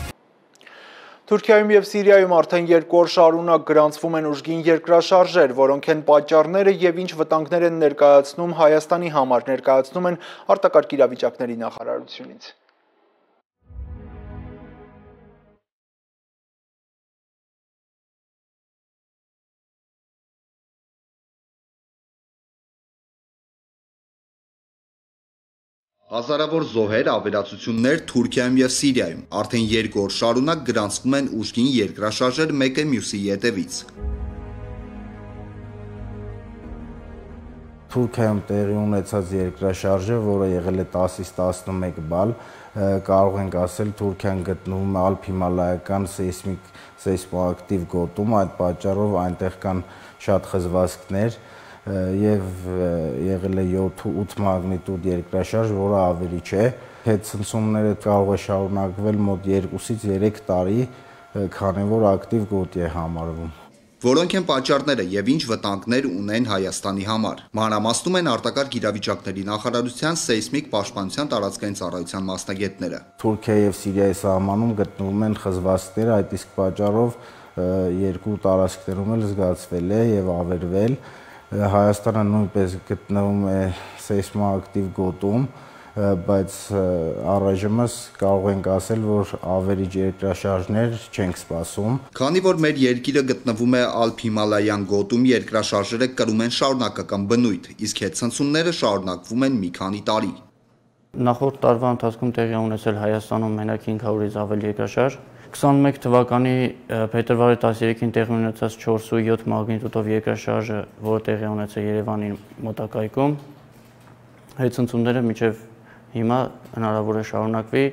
S1: Թուրքիայում և Սիրիայում արդեն երկու օր շարունակ գրանցվում են ուժգին երկրաշարժեր, որոնք են պատճառները և ինչ վտանգներ են ներկայացնում Հայաստանի համար, ներկայացնում են արտակարգ իրավիճակների նախարարությունից։
S11: Հազարավոր զոհեր, ավերածություններ Թուրքիայում և Սիրիայում արդեն երկու օր շարունակ գրանցվում են ուժգին երկրաշարժեր մեկը մյուսի ետևից։
S12: Թուրքիայում տեղի ունեցած երկրաշարժը, որը եղել է տասից տասնմեկ բալ, կարող ենք ասել Թուրքիան գտնվում է ալփ-հիմալայական սեյսմիկ սեյսմոակտիվ գոտում, այդ պատճառով այնտեղ կան շատ խզվածքներ եւ եղել է յոթ-ութ մագնիտուդ երկրաշարժ, որը ավելի չէ։ Հետցնցումները կարող է շարունակվել մոտ երկուսից երեք տարի, քանի որ ակտիվ գոտի է համարվում։
S11: Որոնք են պատճառները եւ ինչ վտանգներ ունեն Հայաստանի համար։ Մանրամասնում են արտակարգ իրավիճակների նախարարության սեյսմիկ պաշտպանության տարածքային ծառայության մասնագետները։
S12: Թուրքիա եւ Սիրիայի սահմանում գտնվում են խզվածքներ, այդ իսկ պատճառով երկու տարածքներում էլ զգացվել է եւ ավերվել։ Հայաստանը նույնպես գտնվում է սեյսմոակտիվ գոտում, բայց առայժմս կարող ենք ասել, որ ավերիչ երկրաշարժներ չենք սպասում։
S11: Քանի որ մեր երկիրը գտնվում է Ալփ-Հիմալայան գոտում, երկրաշարժերը կրում են շարունակական բնույթ, իսկ հետցնցումները շարունակվում են մի քանի տարի։
S13: Նախորդ տարվա ընթացքում տեղի ունեցել Հայաստանում մենակ հինգ հարյուրից ավել երկրաշարժ։ քսանմեկ թվականի փետրվարի տասներեքին տեղի ունեցած չորս ու յոթ մագնիտուդով երկրաշարժը, որը տեղի ունեցել Երևանի մոտակայքում, հետցնցումները մինչև հիմա հնարավոր է շարունակվի։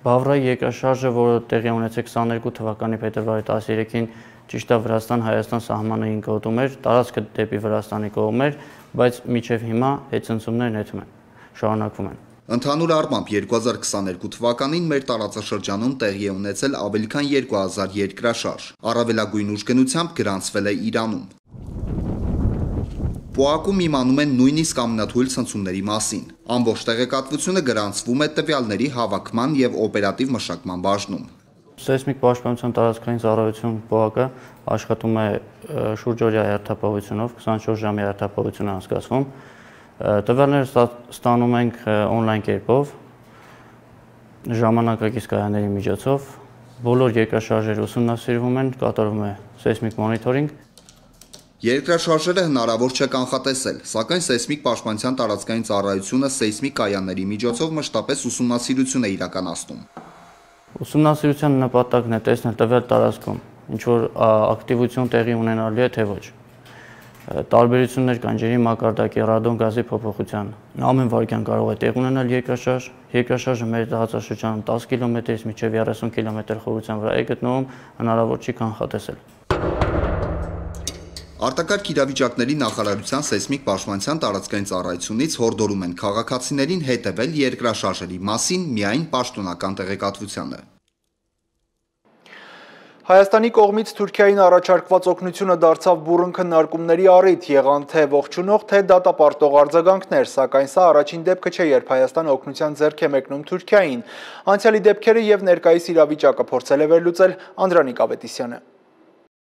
S13: Բավրայի երկրաշարժը, որը տեղի ունեցել քսաներկու թվականի փետրվարի տասներեքին, ճիշտ է Վրաստան-Հայաստան սահմանային գոտում էր, տարածքը դեպի Վրաստանի կողմ էր, բայց մինչև հիմա հետցնցումներն հետում են, շարունակվում են։
S11: Ընդհանուր առմամբ երկու հազար քսաներկու թվականին մեր տարածաշրջանում տեղի է ունեցել ավելի քան երկու հազար երկրաշարժ, առավելագույն ուժգնությամբ գրանցվել է Իրանում։ Պոակում իմանում են նույնիսկ ամենաթույլ ցնցումների մասին։ Ամբողջ տեղեկատվությունը գրանցվում է տվյալների հավաքման եւ օպերատիվ մշակման բաժնում։
S13: Սեյսմիկ պաշտպանության տարածքային ծառայություն Պոակը աշխատում է շուրջօրյա հերթապահությունով, քսանչորս ժամի հերթապահություն է անցկացվում։ Տվյալները ստանում ենք օնլայն կերպով, ժամանակակից կայանների միջոցով, բոլոր երկրաշարժերը ուսումնասիրվում են, կատարվում է սեյսմիկ մոնիթորինգ։
S11: Երկրաշարժերը հնարավոր չէ կանխատեսել, սակայն սեյսմիկ պաշտպանության տարածքային ծառայությունը սեյսմիկ կայանների միջոցով մշտապես ուսումնասիրություն է իրականացնում։
S13: Ուսումնասիրության նպատակն է տեսնել տվյալ տարածքում ինչ որ ակտիվություն տեղի ունենալու է թե ոչ։ Տարբերություններ կան ջրի մակարդակի, ռադոն գազի փոփոխության։ Ամեն վայրկյան կարող է տեղ ունենալ երկրաշարժ։ Երկրաշարժը մեր տարածաշրջանում տասը կիլոմետրից մինչև երեսուն կիլոմետր խորության վրա է գտնվում, հնարավոր չի կանխատեսել։
S11: Արտակարգ իրավիճակների նախարարության սեյսմիկ պաշտպանության տարածքային ծառայությունից հորդորում են քաղաքացիներին հետևել երկրաշարժերի մասին միայն պաշտոնական տեղեկատվությանը։
S1: Հայաստանի կողմից Թուրքիային առաջարկված օգնությունը դարձավ բուռն քննարկումների առիթ, եղան թե ողջունող, թե դատապարտող արձագանքներ, սակայն սա առաջին դեպքը չէ, երբ Հայաստանը օգնության ձեռք է մեկնում Թուրքիային։ Անցյալի դեպքերը եւ ներկայիս իրավիճակը փորձել է վերլուծել Անդրանիկ Ավետիսյանը։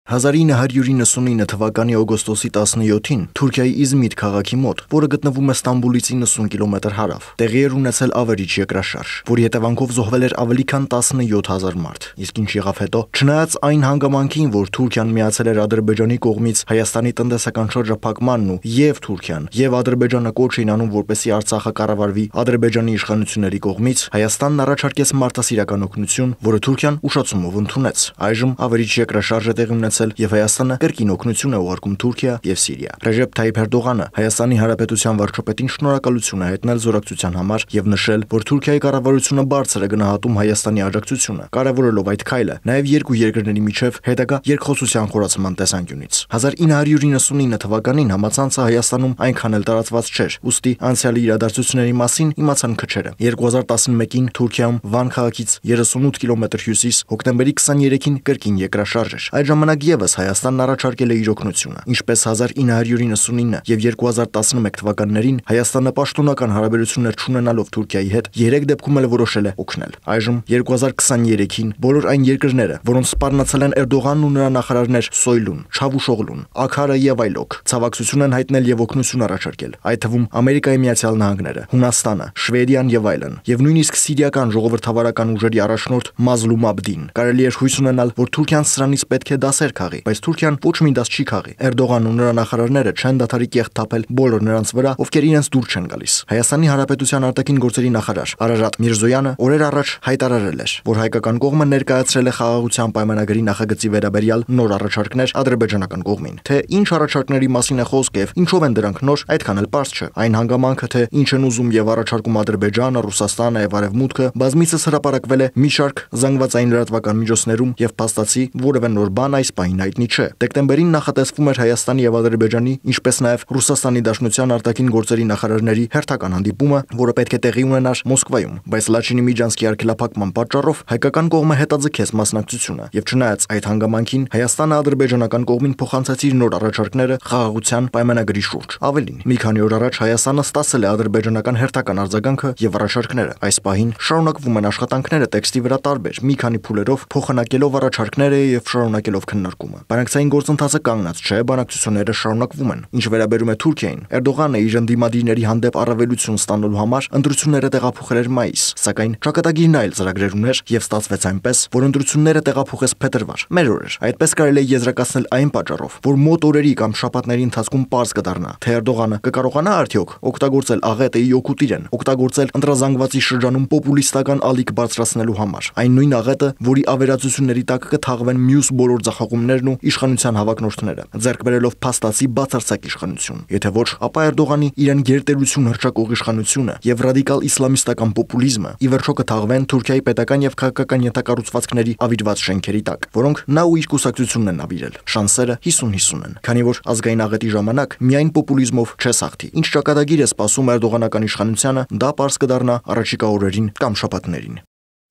S14: հազար ինը հարյուր իննսունինը թվականի օգոստոսի տասնյոթին Թուրքիայի Իզմիր քաղաքի մոտ, որը գտնվում է Ստամբուլից իննսուն կիլոմետր հարավ, տեղի էր ունեցել ավերիչ երկրաշարժ, որի հետևանքով զոհվել էր ավելի քան տասնյոթ հազար մարդ։ Իսկ ինչ եղավ հետո, չնայած այն հանգամանքին, որ Թուրքիան միացել էր Ադրբեջանի կողմից Հայաստանի տնտեսական շրջափակմանն ու եւ Թուրքիան, եւ Ադրբեջանը կոչ էին անում, որպեսզի Արցախը կառավարվի Ադրբեջանի իշխանությունների կողմից, Հայաստանն առաջարկեց մարդասիրական օգնություն, որը Թուրքիան ուշացումով ընդունեց։ Այժմ ավերիչ երկրաշարժ է տեղի ունեցել եւ Հայաստանը կրկին օգնություն է ուղարկում Թուրքիա եւ Սիրիա։ Ռեժեփ Թայիփ Էրդողանը Հայաստանի Հանրապետության վարչապետին շնորհակալություն է հայտնել զորակցության համար եւ նշել, որ Թուրքիայի կառավարությունը բարձր է գնահատում Հայաստանի աջակցությունը, կարևորելով այդ քայլը նաեւ երկու երկրների միջև հետագա երկխոսության խորացման տեսանկյունից։ հազար ինը հարյուր իննսունինը թվականին համացանցը Հայաստանում այնքան էլ տարածված չէր, ուստի անցյալի իրադարձությունների մասին իմացան քչերը։ երկու հազար տասնմեկին Թուրքիայում Վան քաղաքից երեսունութ կիլոմետր հյուսիս, հոկտեմբերի քսաներեքին կրկին երկրաշարժ էր։ Այդ ժամանակ եւս Հայաստանն առաջարկել է իր օգնությունը, ինչպես հազար ինը հարյուր իննսունինը եւ երկու հազար տասնմեկ թվականներին Հայաստանը պաշտոնական հարաբերություններ չունենալով Թուրքիայի հետ երեք դեպքում էլ որոշել է օգնել։ Այժմ երկու հազար քսաներեքին բոլոր այն երկրները, որոնց սպառնացել են Էրդողանն ու նրա նախարարներ Սոյլուն, Չավուշօղլուն, Աքարը եւ այլոք, ցավակցություն են հայտնել եւ օգնություն առաջարկել, այդ թվում Ամերիկայի Միացյալ Նահանգները, Հունաստանը, Շվեդիան եւ այլն, եւ նույնիսկ սիրիական ժողովրդավարական ուժերի առաջնորդ Մազլում Աբդին։ Կարելի է հույս ունենալ, որ Թուրքիան սրանից պետք է դասեր քաղի, բայց Թուրքիան ոչ մի դաս չի քաղի։ Էրդողանն ու նրա նախարարները չեն դադարի կեղտ թափել բոլոր նրանց վրա, ովքեր իրենց դուր չեն գալիս։ Հայաստանի Հանրապետության արտաքին գործերի նախարար Արարատ Միրզոյանը օրեր առաջ հայտարարել էր, որ հայկական կողմը ներկայացրել է խաղաղության պայմանագրի նախագծի վերաբերյալ նոր առաջարկներ ադրբեջանական կողմին։ Թե ինչ առաջարկների մասին է խոսքը եւ ինչով են դրանք նոր, այդքան էլ պարզ չէ։ Այն հանգամանքը, թե ինչ են ուզում եւ առաջարկում Ադրբեջանը, Ռուսաստանը եւ Արևմուտքը, բազմիցս հրապարակվել է մի շարք զանգվածային լրատվական միջոցներում եւ փաստացի որևէ նոր բան այս պահին հայտնի չէ։ Դեկտեմբերին նախատեսվում էր Հայաստանի եւ Ադրբեջանի, ինչպես նաեւ Ռուսաստանի Դաշնության արտաքին գործերի նախարարների հերթական հանդիպումը, որը պետք է տեղի ունենար Մոսկվայում, բայց Լաչինի միջանցքի արգելափակման պատճառով հայկական կողմը հետաձգեց մասնակցությունը, եւ չնայած այդ հանգամանքին Հայաստանը ադրբեջանական կողմին փոխանցեց իր նոր առաջարկները խաղաղության պայմանագրի շուրջ։ Ավելին, մի քանի օր առաջ Հայաստանը ստացել է ադրբեջանական հերթական արձագանքը եւ առաջարկները։ Այս պահին շարունակվում են աշխատանքները տեքստի վրա տարբեր մի քանի փուլերով, փոխանակելով առաջարկները եւ շարունակելով քննարկումը։ Բանակցային գործընթացը կանգնած չէ, բանակցությունները շարունակվում են։ Ինչ վերաբերում է Թուրքիային, Էրդողանը իր ընդդիմադիրների հանդեպ առավելություն ստանալու համար ընտրությունները տեղափոխել էր մայիս, սակայն ճակատագիրն այլ ծրագրեր ուներ եւ ստացվեց այնպես, որ ընտրությունները տեղափոխեց փետրվար։ Մեր օրեր այդպես կարելի է եզրակացնել այն պատճառով, որ մոտ օրերի կամ շաբաթների ընթացքում պարզ կդառնա, թե Էրդողանը կկարողանա արդյոք օգտագործել աղետեի օգուտ իրեն, օգտագործել ընտրազանգվածի շրջանում պոպուլիստական ալիք բարձրացնելու համար։ Այն նույն աղետը, որի ավերածությունների տակ կթաղվեն մյուս բոլոր ձախողումներն ու իշխանության հավակնորդները, ձեռք բերելով փաստացի բացարձակ իշխանություն։ Եթե ոչ, ապա Էրդողանի իրեն գերտերություն հռչակող իշխանությունը եւ ռադիկալ իսլամիստական պոպուլիզմը ի վերջո կթաղվեն Թուրքիայի պետական եւ քաղաքական ենթակառուցվածքների ավիրված շենքերի տակ, որոնք նա ու իր կուսակցությունն են ավիրել։ Շանսերը հիսուն հիսուն են, քանի որ ազգային աղետի ժամանակ միայն պոպուլիզմով չես հաղթի։ Ինչ ճակատագիր է սպասում Էրդողանական իշխանությանը, դա պարզ կդառնա առաջիկա օրերին կամ շաբաթներին։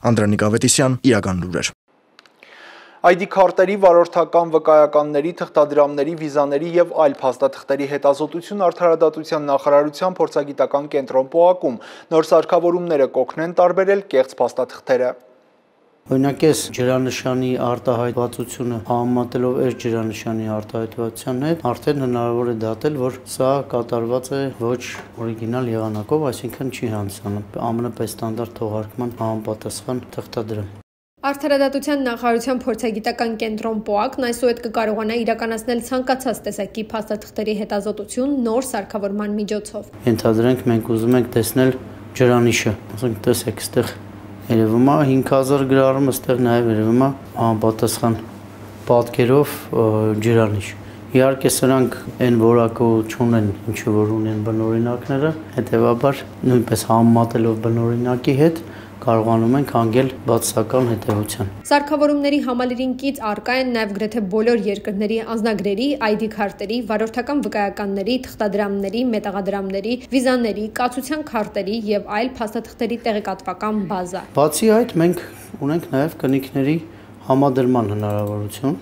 S14: Անդրանիկ Ավետիսյան, Իրական լուրեր։
S1: Այ դի քարտերի, վարորդական վկայականների, թղթադրամների, վիզաների եւ այլ փաստաթղթերի հետազոտություն Արդարադատության նախարարության փորձագիտական կենտրոն ՊՕԱԿ-ում նոր սարքավորումները կօգնեն տարբերել կեղծ փաստաթղթերը։
S15: Օրինակ այս ջրանշանի արտահայտվածությունը համեմատելով այս ջրանշանի արտահայտվածության հետ արդեն հնարավոր է դատել, որ սա կատարված է ոչ օրիգինալ եղանակով, այսինքն չի հանձնանում ԱՄՆ ստանդարտ թողարկման համապատասխան թղթադրամ։
S16: Արդարադատության նախարարության փորձագիտական կենտրոն ՊՕԱԿ-ն այսուհետ կկարողանա իրականացնել ցանկացած տեսակի փաստաթղթերի հետազոտություն նոր սարքավորման միջոցով։
S15: Ենթադրենք մենք ուզում ենք տեսնել ջրանիշը, ասենք տեսեք, այստեղ երևում է հինգ հազար գրառում, այստեղ նաև երևում է համապատասխան պատկերով ջրանիշ։ Իհարկե սրանք այն որակը չունեն, ինչը որ ունեն բնօրինակները, հետևաբար նույնպես համեմատելով բնօրինակի հետ կարողանում ենք հանգել բացասական հետևության։
S16: Սարքավորումների համալիրին կից առկա են նաև գրեթե բոլոր երկրների անձնագրերի, այ դի քարտերի, վարորդական վկայականների, թղթադրամների, մետաղադրամների, վիզաների, կացության քարտերի եւ այլ փաստաթղթերի տեղեկատվական բազա։
S15: Բացի այդ, մենք ունենք նաև կնիքների համադրման հնարավորություն։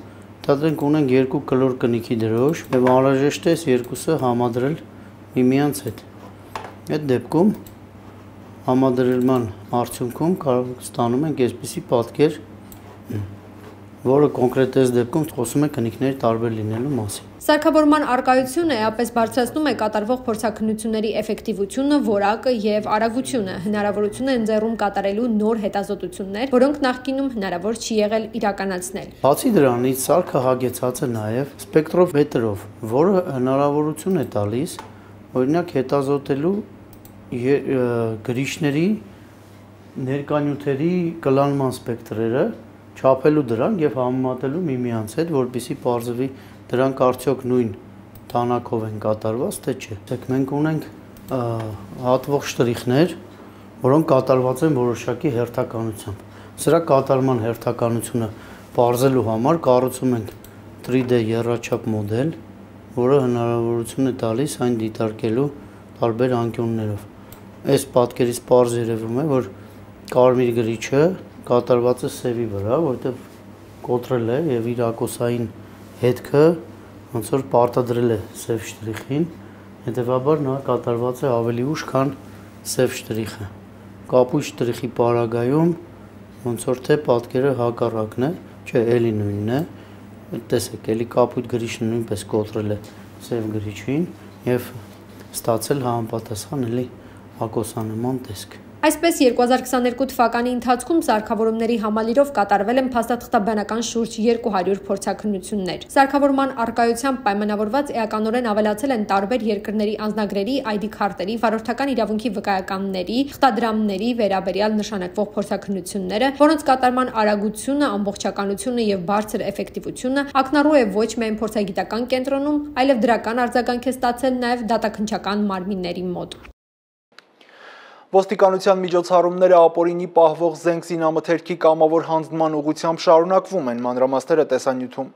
S15: Դատենք ունենք երկու կլոր կնիքի դրոշ եւ անհրաժեշտ է այս երկուսը համադրել միմյանց հետ։ Այդ դեպքում համադրման արդյունքում կարող ստանում ենք այսպիսի պատկեր, որը կոնկրետ այս դեպքում խոսում է կնիքների տարբեր լինելու մասին։
S16: Սարքավորման առկայությունը էապես բարձրացնում է կատարվող փորձաքննությունների էֆեկտիվությունը, որակը եւ արագությունը, հնարավորություն է ընձեռում կատարելու նոր հետազոտություններ, որոնք նախկինում հնարավոր չի եղել իրականացնել։
S15: Բացի դրանից, սարքը հագեցած է նաեւ սպեկտրոմետրով, որը հնարավորություն է տալիս օրինակ հետազոտելու գրիչների ներկանյութերի կլանման սպեկտրերը, չափելու դրանք եւ համեմատելու միմյանց հետ, որպեսզի պարզվի դրանք արդյոք նույն թանակով են կատարված, թե չէ։ Մենք ունենք հատվող շտրիխներ, որոնք կատարված են որոշակի հերթականությամբ։ Սրա կատարման հերթականությունը պարզելու համար կառուցում ենք tři D եռաչափ մոդել, որը հնարավորություն է տալիս այն դիտարկելու տարբեր անկյուններով։ Այս պատկերից պարզ երևում է, որ կարմիր գրիչը կատարված է սևի վրա, որտեղ կոտրել է եւ իր ակոսային հետքը ոնց որ պարտադրել է սև շտրիխին, հետեւաբար նա կատարված է ավելի ուշ, քան սև շտրիխը։ Կապույտ շտրիխի պարագայում ոնց որ թե պատկերը հակառակն է, չէ, էլի նույնն է։ Տեսեք, էլի կապույտ գրիչը նույնպես կոտրել է սև գրիչին եւ ստացել համապատասխան էլի ակոսանման տեսք։
S16: Այսպես երկու հազար քսաներկու թվականի ընթացքում սարքավորումների համալիրով կատարվել են փաստաթղթաբանական շուրջ երկու հարյուր փորձաքննություններ։ Սարքավորման առկայությամբ պայմանավորված էականորեն ավելացել են տարբեր երկրների անձնագրերի, այ դի քարտերի, վարորդական իրավունքի վկայականների, թղթադրամների վերաբերյալ նշանակվող փորձաքննությունները, որոնց կատարման արագությունը, ամբողջականությունը եւ բարձր էֆեկտիվությունը ակնառու է ոչ միայն փորձագիտական կենտրոնում, այլև դրական արձագանք է ստացել նաեւ դատաքննչական մարմինների մոտ։
S1: Ոստիկանության միջոցառումները ապօրինի պահվող զենք զինամթերքի կամավոր հանձնման ուղղությամբ շարունակվում են, մանրամասները տեսանյութում։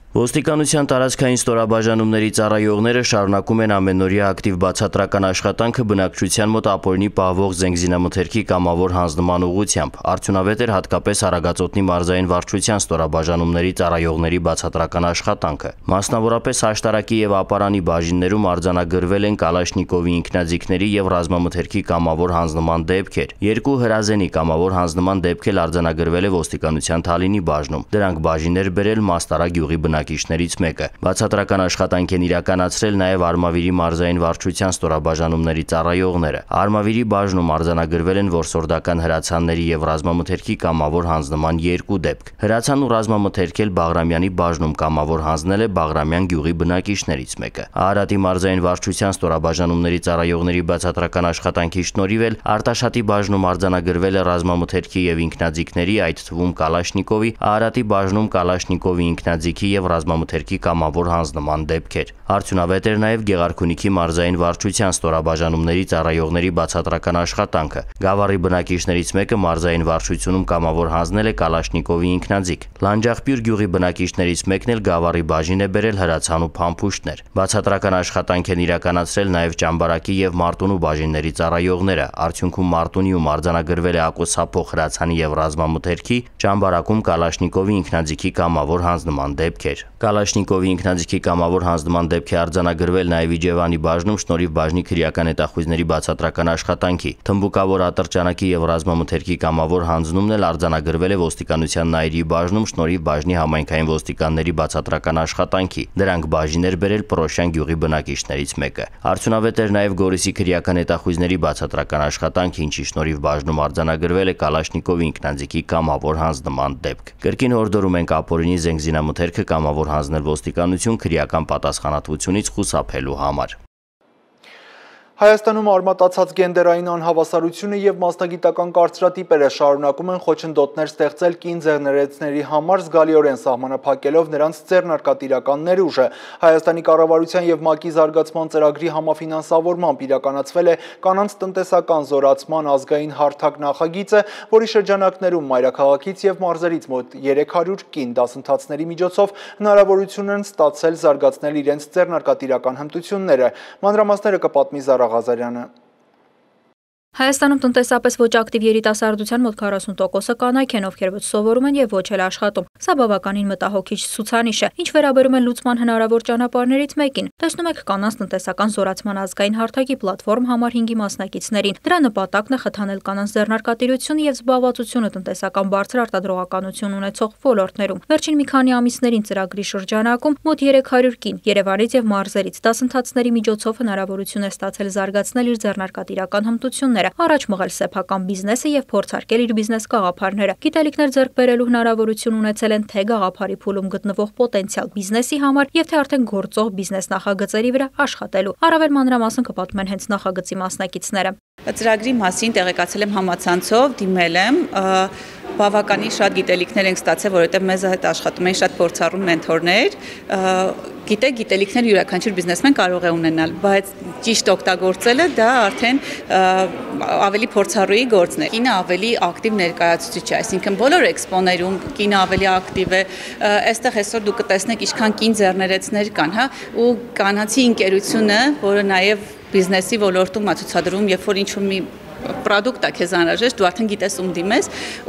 S17: Ոստիկանության տարածքային ստորաբաժանումների ծառայողները շարունակում են ամենօրյա ակտիվ բացատրական աշխատանքը բնակչության մոտ ապօրինի պահվող զենգզինամթերքի կամավոր հանձնման ուղղությամբ։ Արդյունավետ էր հատկապես Արագածոտնի մարզային վարչության ստորաբաժանումների ծառայողների բացատրական աշխատանքը։ Մասնավորապես աշտարակի եւ ապարանի բաժիններում արձանագրվել են Կալաշնիկովի ինքնաձիգների եւ ռազմամթերքի կամավոր հանձնման դեպքեր։ Երկու հրազենի կամավոր հանձնման դեպք էլ արձանագրվել է ոստիկանության Թալինի բաժնում։ Դրանք բաժիներ բերել Մաստարա գյուղի բնակիչներից մեկը։ Բացատրական աշխատանք են իրականացրել նաև Արմավիրի մարզային վարչության ստորաբաժանումների ծառայողները։ Արմավիրի բաժնում արձանագրվել են որսորդական հրացանների եւ ռազմամթերքի կամավոր հանձնման երկու դեպք։ Հրացան ու ռազմամթերք էլ Բաղրամյանի բաժնում կամավոր հանձնել է Բաղրամյան գյուղի բնակիչներից մեկը։ Արարատի մարզային վարչության ստորաբաժանումների ծառայողների բացատրական աշխատանքի շնորհիվ էլ Արտաշատի բաժնում արձանագրվել է ռազմամթերքի եւ ինքնաձիգների, այդ թվում Կալաշնիկովի, Արարատի բաժնում Կալաշնիկովի ինքնաձիգի եւ ռազմամթերքի կամավոր հանձնման դեպքեր։ Արդյունավետ էր նաև Գեղարքունիքի մարզային վարչության ստորաբաժանումների ծառայողների բացատրական աշխատանքը։ Գավառի բնակիչներից մեկը մարզային վարչությունում կամավոր հանձնել է Կալաշնիկովի ինքնաձիգ։ Լանջախպյուր գյուղի բնակիչներից մեկն էլ Գավառի բաժին է բերել հրացան ու փամփուշտներ։ Բացատրական աշխատանք են իրականացրել նաև Ճամբարակի եւ Մարտունու բաժինների ծառայողները։ Արդյունքում Մարտունիում արձանագրվել է ակոսափող հրացանի եւ ռազմամթերքի, Ճամբարակում Կալաշնիկովի ինքնաձիգի կամավոր հանձնման դեպքեր։ Կալաշնիկովի ինքնաձիգի կամավոր հանձնման դեպք է արձանագրվել նաև Իջևանի բաժնում շնորհիվ բաժնի քրեական հետախույզների բացատրական աշխատանքի։ Թմբուկավոր ատրճանակի եւ ռազմամթերքի կամավոր հանձնումն էլ արձանագրվել է ոստիկանության Նայիրի բաժնում շնորհիվ բաժնի համայնքային ոստիկանների բացատրական աշխատանքի։ Դրանք բաժիներ բերել Պրոշյան գյուղի բնակիչներից մեկը։ Արդյունավետ էր նաև Գորիսի քրեական հետախույզների բացատրական աշխատանքը, ինչի շնորհիվ բաժնում արձանագրվել է Կալաշնիկովի ինքնաձիգի կամավոր հանձնման դեպք։ Կրկին հորդորում ենք ապօրինի զենգզինամթերքը կամավոր հանձնել ոստիկանություն քրեական պատասխանատվությունից խուսափելու համար։
S1: Հայաստանում արմատացած գենդերային անհավասարությունը եւ մասնագիտական կարծրատիպերը շարունակում են խոչընդոտներ ստեղծել կին ձեռներեցների համար, զգալիորեն սահմանափակելով նրանց ձեռնարկատիրական ներուժը։ Հայաստանի կառավարության եւ ՄԱԿ-ի զարգացման ծրագրի համաֆինանսավորմամբ իրականացվել է կանանց տնտեսական զորացման ազգային հարթակ նախագիծը, որի շրջանակներում մայրաքաղաքից եւ մարզերից մոտ երեք հարյուր կին դասընթացների միջոցով հնարավորություն են ստացել զարգացնել իրենց ձեռնարկատիրական հմտությունները։ Մանրամասները կպատմի Զարա Ղազարյանը։
S18: Հայաստանում տնտեսապես ոչ ակտիվ երիտասարդության մոտ քառասուն տոկոսը կանայք են, ովքեր ոչ սովորում են եւ ոչ էլ աշխատում։ Սա բավականին մտահոգիչ ցուցանիշ է, ինչ վերաբերում է լուծման հնարավոր ճանապարհներից մեկին։ Տեսնում եք կանանց տնտեսական զորացման ազգային հարթակի պլատֆորմ համար հինգի մասնակիցներին։ Դրա նպատակն է խթանել կանանց ձեռնարկատիրությունը եւ զբաղվածությունը տնտեսական բարձր արտադրողականություն ունեցող ոլորտներում։ Վերջին մի քանի ամիսներին ծրագրի շրջանակում մոտ երեք հարյուր կին Երևանից եւ մարզերից դասընթացների միջոցով հնարավորություն է ստացել զարգացնել իր ձեռնարկատիրական հմտությունները, առաջ մղել սեփական բիզնեսը եւ փորձարկել իր բիզնես գաղափարները։ Գիտելիքներ ձեռք բերելու հնարավորություն ունեցել են թե գաղափարի փուլում գտնվող պոտենցիալ բիզնեսի համար եւ թե արդեն գործող բիզնես նախագծերի վրա աշխատելու։ Առավել մանրամասն կպատմեն հենց նախագծի մասնակիցները։
S8: Ծրագրի մասին տեղեկացել եմ համացանցով, դիմել եմ, բավականին շատ գիտելիքներ ենք ստացել, որովհետև մեզ հետ աշխատում են շատ փորձառու մենթորներ, գիտեք, գիտելիքներ յուրաքանչյուր բիզնեսմեն կարող է ունենալ, բայց ճիշտ օգտագործելը դա արդեն ավելի փորձառուի գործն է։ Կինը ավելի ակտիվ ներկայացուցիչ է, այսինքն բոլոր էքսպոներում կինը ավելի ակտիվ է, այստեղ այսօր դուք կտեսնեք ինչքան կին ձեռներեցներ կան, հա, ու կանացի ընկերությունը, որը նաև բիզնեսի ոլորտում ցուցադրում, երբ որ ինչ-որ մի պրոդուկտ է քեզ անհրաժեշտ, դու արդեն գիտես ում դիմես,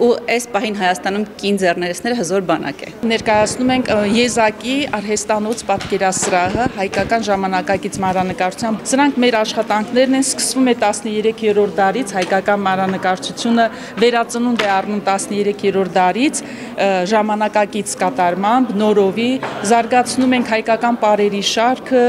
S8: ու այս պահին Հայաստանում կին ձեռներեցները հզոր բանակ է։
S19: Ներկայացնում ենք Եզակի արհեստանոց պատկերասրահը հայկական ժամանակակից մանրանկարչությամբ։ Սրանք մեր աշխատանքներն են, սկսվում է տասներեքերորդ դարից, հայկական մանրանկարչությունը վերածնունդ է առնում տասներեքերորդ դարից, ժամանակակից կատարմամբ, նորովի, զարգացնում ենք հայկական պարերի շարքը,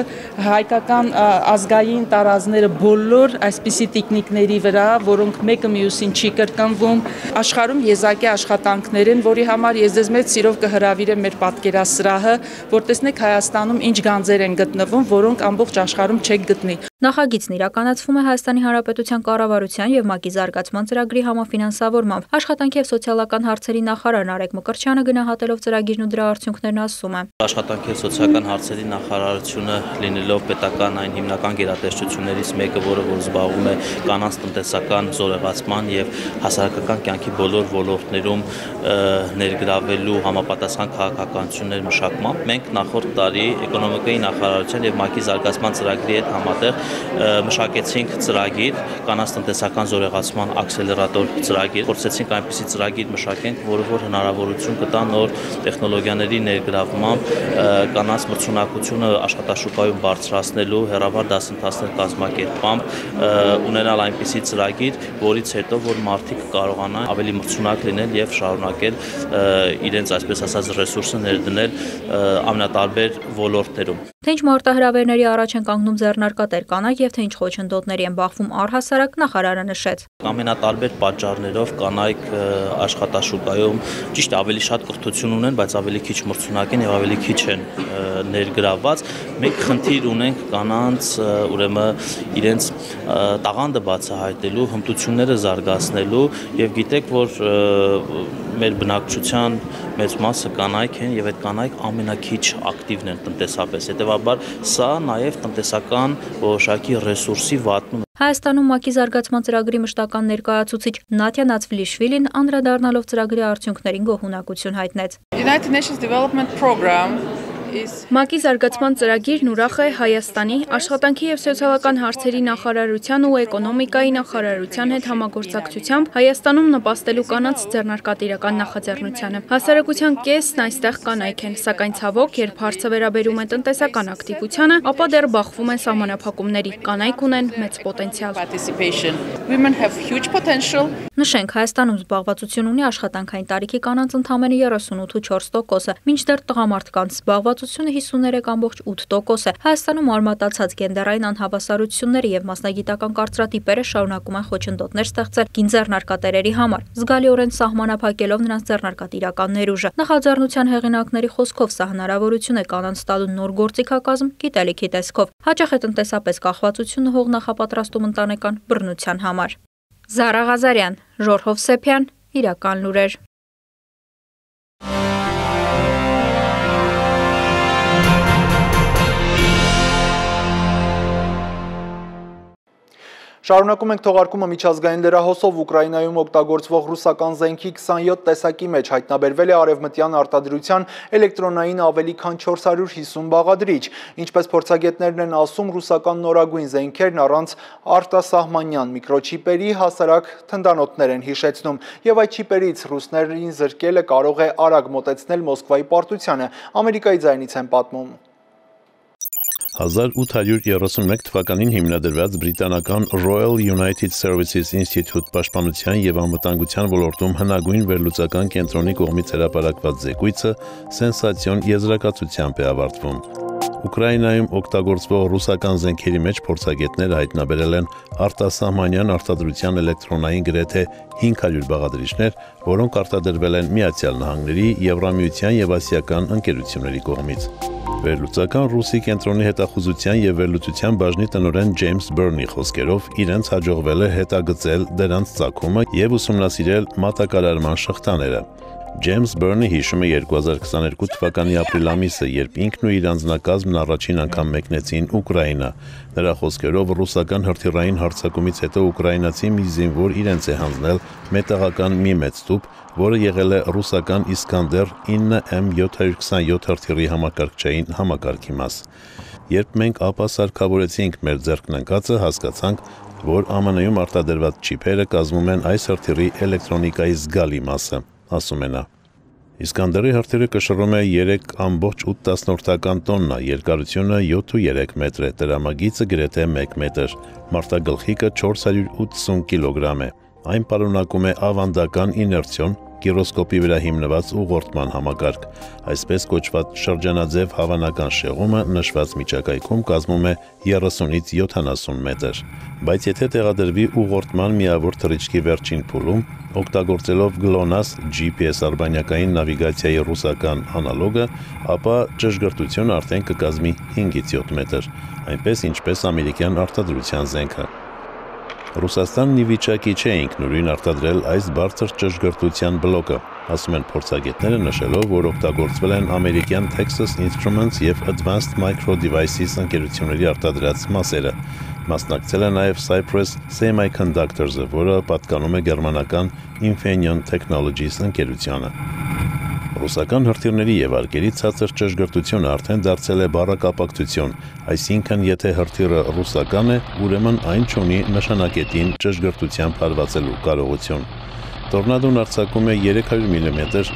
S19: հայկական ազգային տարազները բոլոր այսպիսի տեխնիկների վրա, որոնք մեկը մյուսին չի կրկնվում։ Աշխարհում եզակի աշխատանքներ են, որի համար ես ձեզ մեծ սիրով կհրավիրեմ մեր պատկերասրահը, որ տեսնեք Հայաստանում ինչ գանձեր են գտնվում, որոնք ամբողջ աշխարհում չեք գտնի։
S18: Նախագիծն իրականացվում է Հայաստանի Հանրապետության կառավարության եւ ՄԱԿ-ի զարգացման ծրագրի համաֆինանսավորմամբ։ Աշխատանքի եւ սոցիալական հարցերի նախարար Նարեկ Մկրտչյանը գնահատելով ծրագիրն ու դրա արդյունքներն ասում է.
S20: Աշխատանքի եւ սոցիալական հարցերի նախարարությունը լինելով պետական այն հիմնական գերատեսչություններից մեկը, որը որ զբաղվում է կանանց տնտեսական տնտեսական զորեղացման եւ հասարակական կյանքի բոլոր ոլորտներում ներգրավելու համապատասխան քաղաքականություններ մշակմամբ մենք նախորդ տարի էկոնոմիկայի նախարարության եւ ՄԱԿ-ի զարգացման ծրագրի հետ համատեղ մշակեցինք ծրագիր, կանանց տնտեսական զորեղացման աքսելերատոր ծրագիր, փորձեցինք այնպիսի ծրագիր մշակենք, որը որ հնարավորություն կտա նոր տեխնոլոգիաների ներգրավմամբ կանանց մրցունակությունը աշխատաշուկայում բարձրացնելու, հեռավար դասընթացներ կազմակերպմամբ ունենալ այնպիսի ծրագիր, որից հետո որ մարդիկ կարողանան ավելի մրցունակ լինել եւ շարունակել իրենց այսպես ասած ռեսուրսը ներդնել ամենատարբեր ոլորտներում։
S18: Թե ինչ մարտահրավերների առաջ են կանգնում ձեռնարկատեր կանայք եւ թե ինչ խոչընդոտների են բախվում առհասարակ, նախարարը նշեց.
S20: Ամենատարբեր պատճառներով կանայք աշխատաշուկայում ճիշտ ավելի շատ կրթություն ունեն, բայց ավելի քիչ մրցունակ են եւ ավելի քիչ են ներգրավված։ Մենք խնդիր ունենք կանանց ուրեմն իրենց տաղանդը բացահայտելու, հմտությունները զարգացնելու եւ գիտեք, որ մեր բնակչության մեծ մասը կանայք են եւ այդ կանայք ամենաքիչ ակտիվն են տնտեսապես։ Հետևաբար սա նաեւ տնտեսական որոշակի ռեսուրսի վատնում է։
S18: Հայաստանում ՄԱԿ-ի զարգացման ծրագրի մշտական ներկայացուցիչ Նատյա Նացվիլիշվիլին անդրադառնալով ծրագրի արդյունքներին գոհունակություն հայտնեց։
S19: United Nations Development Program
S21: ՄԱԿ-ի զարգացման ծրագիրն ուրախ է Հայաստանի աշխատանքի եւ սոցիալական հարցերի նախարարության ու էկոնոմիկայի նախարարության հետ համագործակցությամբ Հայաստանում նպաստելու կանանց ձեռնարկատիրական նախաձեռնությանը։ Հասարակության կեսն այստեղ կանայք են, սակայն ցավոք, երբ հարցը վերաբերում է տնտեսական ակտիվությանը, ապա դեռ բախվում են սահմանափակումների։ Կանայք ունեն մեծ պոտենցիալ։
S18: Նշենք, Հայաստանում զբաղվածություն ունի աշխատանքային տարիքի կանանց ընդամենը երեսունութ ու չորս տոկոսը, մինչդեռ տղամարդկանց զբաղվածությունը հիսուններեք կόμμα ութ տոկոս է։ Հայաստանում արմատացած գենդերային անհավասարությունները եւ մասնագիտական կարծրատիպերը շարունակում են խոչընդոտներ ստեղծել կին ձեռնարկատերերի համար, զգալիորեն սահմանափակելով նրանց ձեռնարկատիրական ներուժը։ Նախաձեռնության հեղինակների խոսքով սա հնարավորություն է կանանց տալու նոր գործիքակազմ գիտելիքի տեսքով։ Հաճախ է տնտեսապես կախվածությունը հող նախապատրաստում ընտանեկան բռնության համար։ Զարա Ղազարյան, Ժորժ Հովսեփյան, Իրական լուրեր։
S1: Շարունակում ենք թողարկումը միջազգային լրահոսով Ուկրաինայում օգտագործվող ռուսական զենքի քսանյոթ տեսակի մեջ հայտնաբերվել է արևմտյան արտադրության էլեկտրոնային ավելի քան չորս հարյուր հիսուն բաղադրիչ։ Ինչպես փորձագետներն են ասում, ռուսական նորագույն զենքերն առանց արտասահմանյան միկրոչիպերի հասարակ թնդանոթներ են հիշեցնում, եւ այդ չիպերից ռուսներին զրկելը կարող է արագ մոտեցնել Մոսկվայի պարտությանը։ Ամերիկայի ձայնից են պատմում։
S22: հազար ութ հարյուր երեսունմեկ թվականին հիմնադրված բրիտանական Royal United Services Institute պաշտպանության եւ անվտանգության ոլորտում հնագույն վերլուծական կենտրոնի կողմից հրապարակված զեկույցը սենսացիոն եզրակացությամբ է ավարտվում։ Ուկրաինայում օգտագործվող ռուսական զենքերի մեջ փորձագետները հայտնաբերել են արտասահմանյան արտադրության էլեկտրոնային գրեթե հինգ հարյուր բաղադրիչներ, որոնք արտադրվել են Միացյալ Նահանգների, Եվրամիության եւ ասիական ընկերությունների կողմից։ Վերլուծական ռուսի կենտրոնի հետախուզության եւ վերլուծության բաժնի տնօրեն Ջեյմս Բըրնի խոսքերով իրենց հաջողվել է հետագծել դրանց ծագումը եւ ուսումնասիրել մատակարարման շղթաները։ Ջեյմս Բըրնը հիշում է երկու հազար քսաներկու թվականի ապրիլ ամիսը, երբ ինքն ու իր անձնակազմն առաջին անգամ մեկնեցին Ուկրաինա։ Նրա խոսքերով ռուսական հրթիռային հարձակումից հետո ուկրաինացի մի զինվոր իրենց է հանձնել մետաղական մի մեծ տուփ, որը եղել է ռուսական Իսկանդեր ինը էմ յոթ հարյուր քսանյոթ հրթիռի համակարգչային համակարգի մաս։ Երբ մենք ապա սարքավորեցինք մեր ձեռքն ընկածը, հասկացանք, որ Ա Մ Ն-ում արտադրված չիպերը կազմում են այս հրթիռի էլեկտրոնիկայի զգալի մասը, ասում է նա։ Իսկանդերի հրթիռը կշռում է երեք կόμμα ութ տոննա, երկարությունը յոթ ու երեք մետր է, տրամագիծը գրեթե մեկ մետր, մարտագլխիկը չորս հարյուր ութսուն կիլոգրամ է։ Այն պարունակում է ավանդական իներցիոն գիրոսկոպի վրա հիմնված ուղղորդման համակարգ, այսպես կոչված շրջանաձև հավանական շեղումը նշված միջակայքում կազմում է երեսունից յոթանասուն մետր, բայց եթե տեղադրվի ուղղորդման միավոր թռիչքի վերջին փուլում, օգտագործելով գլոնաս Ջի Պի Էս արբանյակային նավիգացիայի ռուսական անալոգը, ապա ճշգրտությունը արդեն կկազմի հինգից յոթ մետր, այնպես ինչպես ամերիկյան արտադրության զենքը։ Ռուսաստանն ի վիճակի չէ ինքնուրույն արտադրել այս բարձր ճշգրտության բլոկը, ասում են փորձագետները, նշելով, որ օգտագործվել են ամերիկյան Texas Instruments եւ Advanced Micro Devices ընկերությունների արտադրած մասերը։ Մասնակցել է նաև Cypress Semiconductors-ը, որը պատկանում է գերմանական Infineon Technologies ընկերությանը։ Ռուսական հրթիռների եւ արկերի ցածր ճշգրտությունը արդեն դարձել է բառակապակցություն, այսինքն եթե հրթիռը ռուսական է, ուրեմն այն չունի նշանակետին ճշգրտությամբ հարվածելու կարողություն։ Տորնադոն արձակում է երեք հարյուր միլիմետր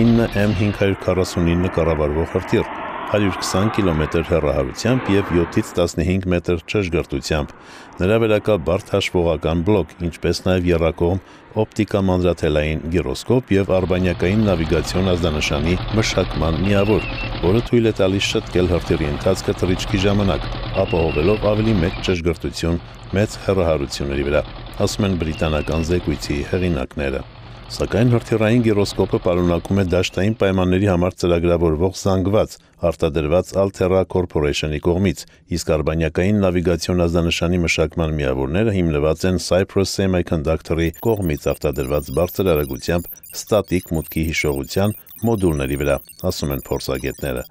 S22: ինը էմ հինգ հարյուր քառասունինը կառավարվող հրթիռ, հարյուր քսան կիլոմետր հեռահարությամբ և յոթից տասնհինգ մետր ճշգրտությամբ։ Նրա վրա կա բարդ հաշվողական բլոկ, ինչպես նաև եռակողմ օպտիկամանրաթելային գիրոսկոպ և արբանյակային նավիգացիոն ազդանշանի մշակման միավոր, որը թույլ է տալիս շտկել հրթիռի ընթացքը թռիչքի ժամանակ, ապահովելով ավելի մեծ ճշգրտություն մեծ հեռահարությունների վրա, ասում են բրիտանական զեկույցի հեղինակները։ Սակայն հրթիռային գիրոսկոպը պարունակում է դաշտային պայմանների համար ծրագրավորվող զանգված, արտադրված Altera Corporation-ի կողմից, իսկ արբանյակային նավիգացիոն ազդանշանի մշակման միավորները հիմնված են Cypress Semiconductor-ի կողմից արտադրված բարձր արագությամբ ստատիկ մուտքի հիշողության մոդուլների վրա, ասում են փորձագետները։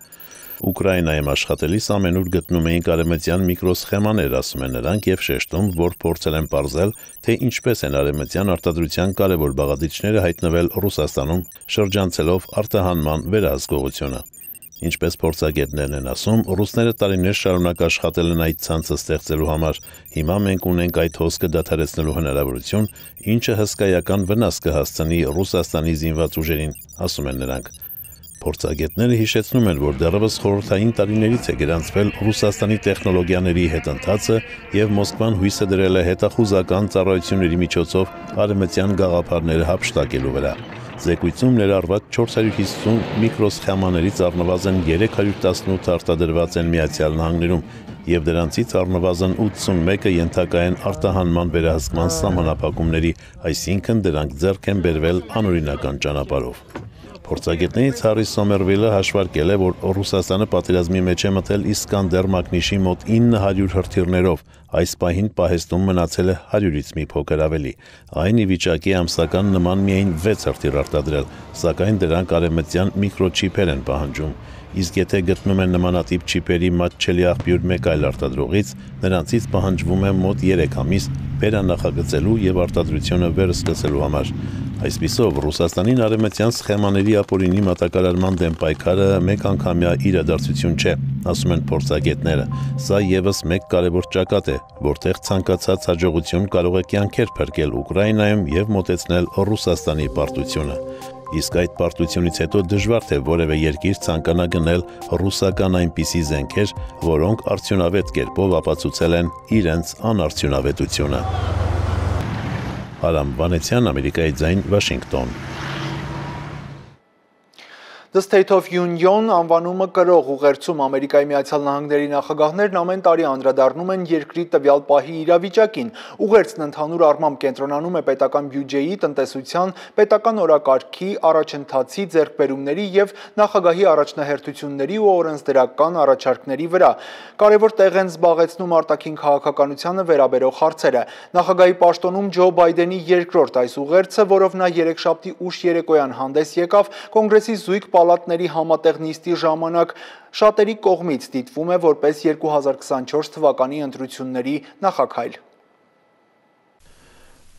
S22: Ուկրաինայում աշխատելիս ամենուր գտնում էինք արևմտյան միկրոսխեմաներ, ասում են նրանք եւ շեշտում, որ փորձել են պարզել, թե ինչպես են արևմտյան արտադրության կարևոր բաղադրիչները հայտնվել Ռուսաստանում, շրջանցելով արտահանման վերահսկողությունը։ Ինչպես փորձագետներն են ասում, ռուսները տարիներ շարունակ աշխատել են այդ ցանցը ստեղծելու համար։ Հիմա մենք ունենք այդ հոսքը դադարեցնելու հնարավորություն, ինչը հսկայական վնաս կհասցնի Ռուսաստանի զինված ուժերին, ասում են նրանք։ Փորձագետները հիշեցնում են, որ դեռևս խորհրդային տարիներից է գրանցվել Ռուսաստանի տեխնոլոգիաների հետընթացը եւ Մոսկվան հույսը դրել է հետախուզական ծառայությունների միջոցով արևմտյան գաղափարները հափշտակելու վրա։ Զեկույցում ներառված չորս հարյուր հիսուն միկրոսխեմաներից առնվազն երեք հարյուր տասնութ արտադրված են Միացյալ Նահանգներում եւ դրանցից առնվազն ութսունմեկը ենթակա են արտահանման վերահսկման սահմանափակումների, այսինքն դրանք ձեռք են բերվել անօրինական ճանապարհով։ Փորձագետներից Հարի Սոմերվիլը հաշվարկել է, որ Ռուսաստանը պատերազմի մեջ է մտել Իսկանդեր մակնիշի մոտ ինը հարյուր հրթիռներով, այս պահին պահեստում մնացել է հարյուրից մի փոքր ավելի։ Այն ի վիճակի ամսական նման միայն վեց հրթիռ արտադրել, սակայն դրանք արևմտյան միկրոչիպեր են պահանջում։ Իսկ եթե գտնում են նմանատիպ չիպերի մատչելի աղբյուր մեկ այլ արտադրողից, նրանցից պահանջվում է մոտ երեք ամիս վերանախագծելու եւ արտադրությունը վերսկսելու համար։ Այսպիսով, Ռուսաստանին արևմտյան սխեմաների ապօրինի մատակարարման դեմ պայքարը մեկ անգամյա իրադարձություն չէ, ասում են փորձագետները։ Սա եւս մեկ կարևոր ճակատ է, որտեղ ցանկացած հաջողություն կարող է կյանքեր փրկել Ուկրաինայում եւ մոտեցնել Ռուսաստանի պարտությունը։ Իսկ այդ պարտությունից հետո դժվար թե որևէ երկիր ցանկանա գնել ռուսական այնպիսի զենքեր, որոնք արդյունավետ կերպով ապացուցել են իրենց անարդյունավետությունը։ Արամ Վանեցյան, Ամերիկայի ձայն, Վաշինգտոն։
S1: The State of Union անվանումը կրող ուղերձում Ամերիկայի Միացյալ Նահանգների նախագահներն ամեն տարի անդրադառնում են երկրի տվյալ պահի իրավիճակին։ Ուղերձն ընդհանուր առմամբ կենտրոնանում է պետական բյուջեի, տնտեսության, պետական օրակարգի, առաջընթացի, ձեռքբերումների եւ նախագահի առաջնահերթությունների ու օրենսդրական առաջարկների վրա։ Կարևոր տեղ են զբաղեցնում արտաքին քաղաքականությանը վերաբերող հարցերը։ Նախագահի պաշտոնում Ջո Բայդենի երկրորդ այս ուղերձը, որով նա երեքշաբթի ուշ երեկոյան հանդես եկավ Կոնգրեսի զույգ պալատների համատեղ նիստի ժամանակ, շատերի կողմից դիտվում է որպես երկու հազար քսանչորս թվականի ընտրությունների նախաքայլ։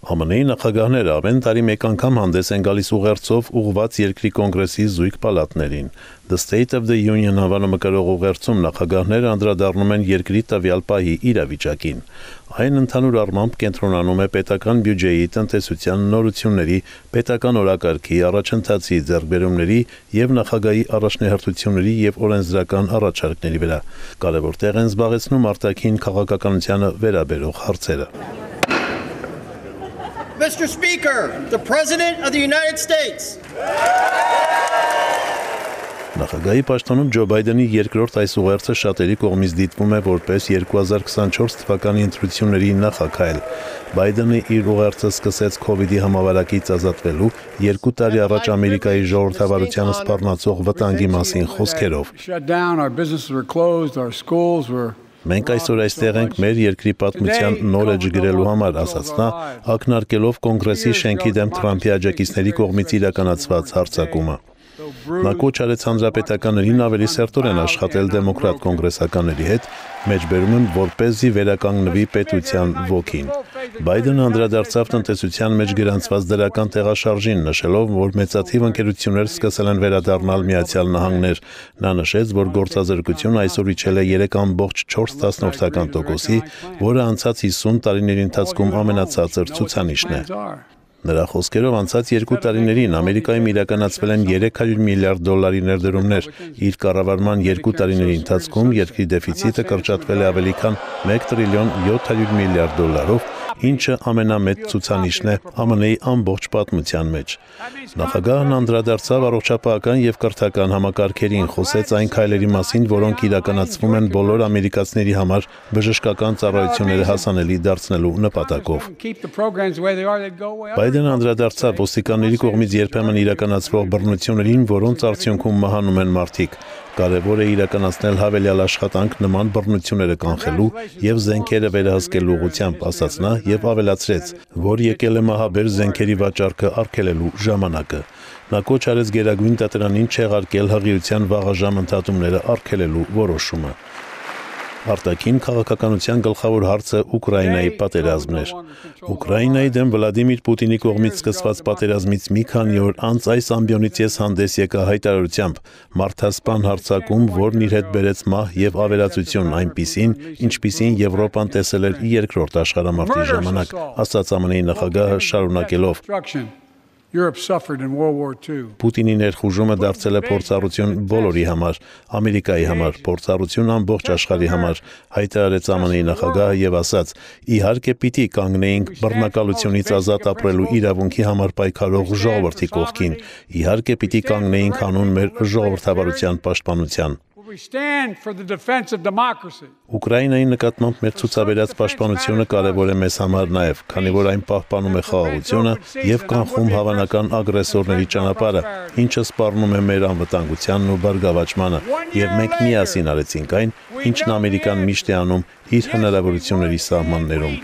S22: ԱՄՆ-ի նախագահները ամեն տարի մեկ անգամ հանդես են գալիս ուղերձով ուղղված երկրի կոնգրեսի զույգ պալատներին։ The State of the Union անվանումը կրող ուղերձում նախագահները անդրադառնում են երկրի տվյալ պահի իրավիճակին։ Այն ընդհանուր առմամբ կենտրոնանում է պետական բյուջեի, տնտեսության նորությունների, պետական օրակարգի, առաջընթացի, ձեռքբերումների եւ նախագահի առաջնահերթությունների եւ օրենսդրական առաջարկների վրա։ Կարևոր տեղ են զբաղեցնում արտաքին քաղաքականությանը վերաբերող հարցերը։
S2: Mister Speaker, the President of the United States.
S22: Նախագահի պաշտոնում Ջո Բայդենի երկրորդ այս ուղերձը շատերի կողմից դիտվում է որպես երկու հազար քսանչորս թվականի ընտրությունների նախաքայլ։ Բայդենը իր ուղերձը սկսեց քովիդի համավարակից ազատվելու երկու տարի առաջ Ամերիկայի ժողովրդավարությանը սպառնացող վտանգի մասին խոսքերով։ Մենք այսօր այստեղ ենք մեր երկրի պատմության նոր էջ գրելու համար, ասաց նա, ակնարկելով Կոնգրեսի շենքի դեմ Թրամփի աջակիցների կողմից իրականացված հարձակումը։ Նա կոչ արեց հանրապետականներին ավելի սերտորեն աշխատել դեմոկրատ կոնգրեսականների հետ, մեջբերում եմ, որպեսզի վերականգնվի պետության ոգին։ Բայդենը անդրադարձավ տնտեսության մեջ գրանցված դրական տեղաշարժին, նշելով, որ մեծաթիվ ընկերություններ սկսել են վերադառնալ Միացյալ Նահանգներ։ Նա նշեց, որ գործազրկությունը այսօր իջել է երեք կόμμα չորս տոկոսի, որը անցած հիսուն տարիների ընթացքում ամենացածր ցուցանիշն է։ Նրա խոսքերով անցած երկու տարիներին Ամերիկայում իրականացվել են երեք հարյուր միլիարդ դոլարի ներդրումներ, իր կառավարման երկու տարիների ընթացքում երկրի դեֆիցիտը կրճատվել է ավելի քան մեկ տրիլիոն յոթ հարյուր միլիարդ դոլարով, ինչը ամենամեծ ցուցանիշն է Ամն Ի-ի ամբողջ պատմության մեջ։ Նախագահն անդրադարձավ առողջապահական եւ կրթական համակարգերին, խոսեց այն քայլերի մասին, որոնք իրականացվում են բոլոր ամերիկացիների համար բժշկական ծառայությունները հասանելի դարձնելու նպատակով։ Բայդենը անդրադարձավ ոստիկանների կողմից երբեմն իրականացվող բռնություններին, որոնց արդյունքում մահանում են մարդիկ։ Կարևոր է իրականացնել հավելյալ աշխատանք նման բռնությունները կանխելու եւ զենքերը վերահսկելու ուղղությամբ, ասաց նա եւ ավելացրեց, որ եկել է մահաբեր զենքերի վաճառքը արգելելու ժամանակը։ Նա կոչ արեց Գերագույն դատարանին չեղարկել հղիության վաղաժամ ընդհատումները արգելելու որոշումը։ Արտաքին քաղաքականության գլխավոր հարցը Ուկրաինայի պատերազմն էր։ Ուկրաինայի դեմ Վլադիմիր Պուտինի կողմից սկսված պատերազմից մի քանի օր անց այս ամբիոնից ես հանդես եկա հայտարարությամբ մարդասպան հարձակում, որն իր հետ բերեց մահ եւ ավերածություն այնպիսին, ինչպիսին Եվրոպան տեսել էր երկրորդ աշխարհամարտի ժամանակ, ասաց Ամն Ի-ի նախագահը շարունակելով. Պուտինի ներխուժումը դարձել է փորձառություն բոլորի համար, Ամերիկայի համար, փորձառություն ամբողջ աշխարհի համար, հայտարարեց Ամն Ի-ի նախագահը եւ ասաց. իհարկե պիտի կանգնեինք բռնակալությունից ազատ ապրելու իրավունքի համար պայքարող ժողովրդի կողքին, իհարկե պիտի կանգնեինք հանուն մեր ժողովրդավարության պաշտպանության։ Ուկրաինայի նկատմամբ մեր ցուցաբերած պաշտպանությունը կարևոր է մեզ համար նաև, քանի որ այն պահպանում է խաղաղությունը եւ կանխում հավանական ագրեսորների ճանապարհը, ինչը սպառնում է մեր անվտանգությանն ու բարգավաճմանը, եւ մենք միասին արեցինք այն, ինչն Ամերիկան միշտ է անում իր հնարավորությունների սահմաններում։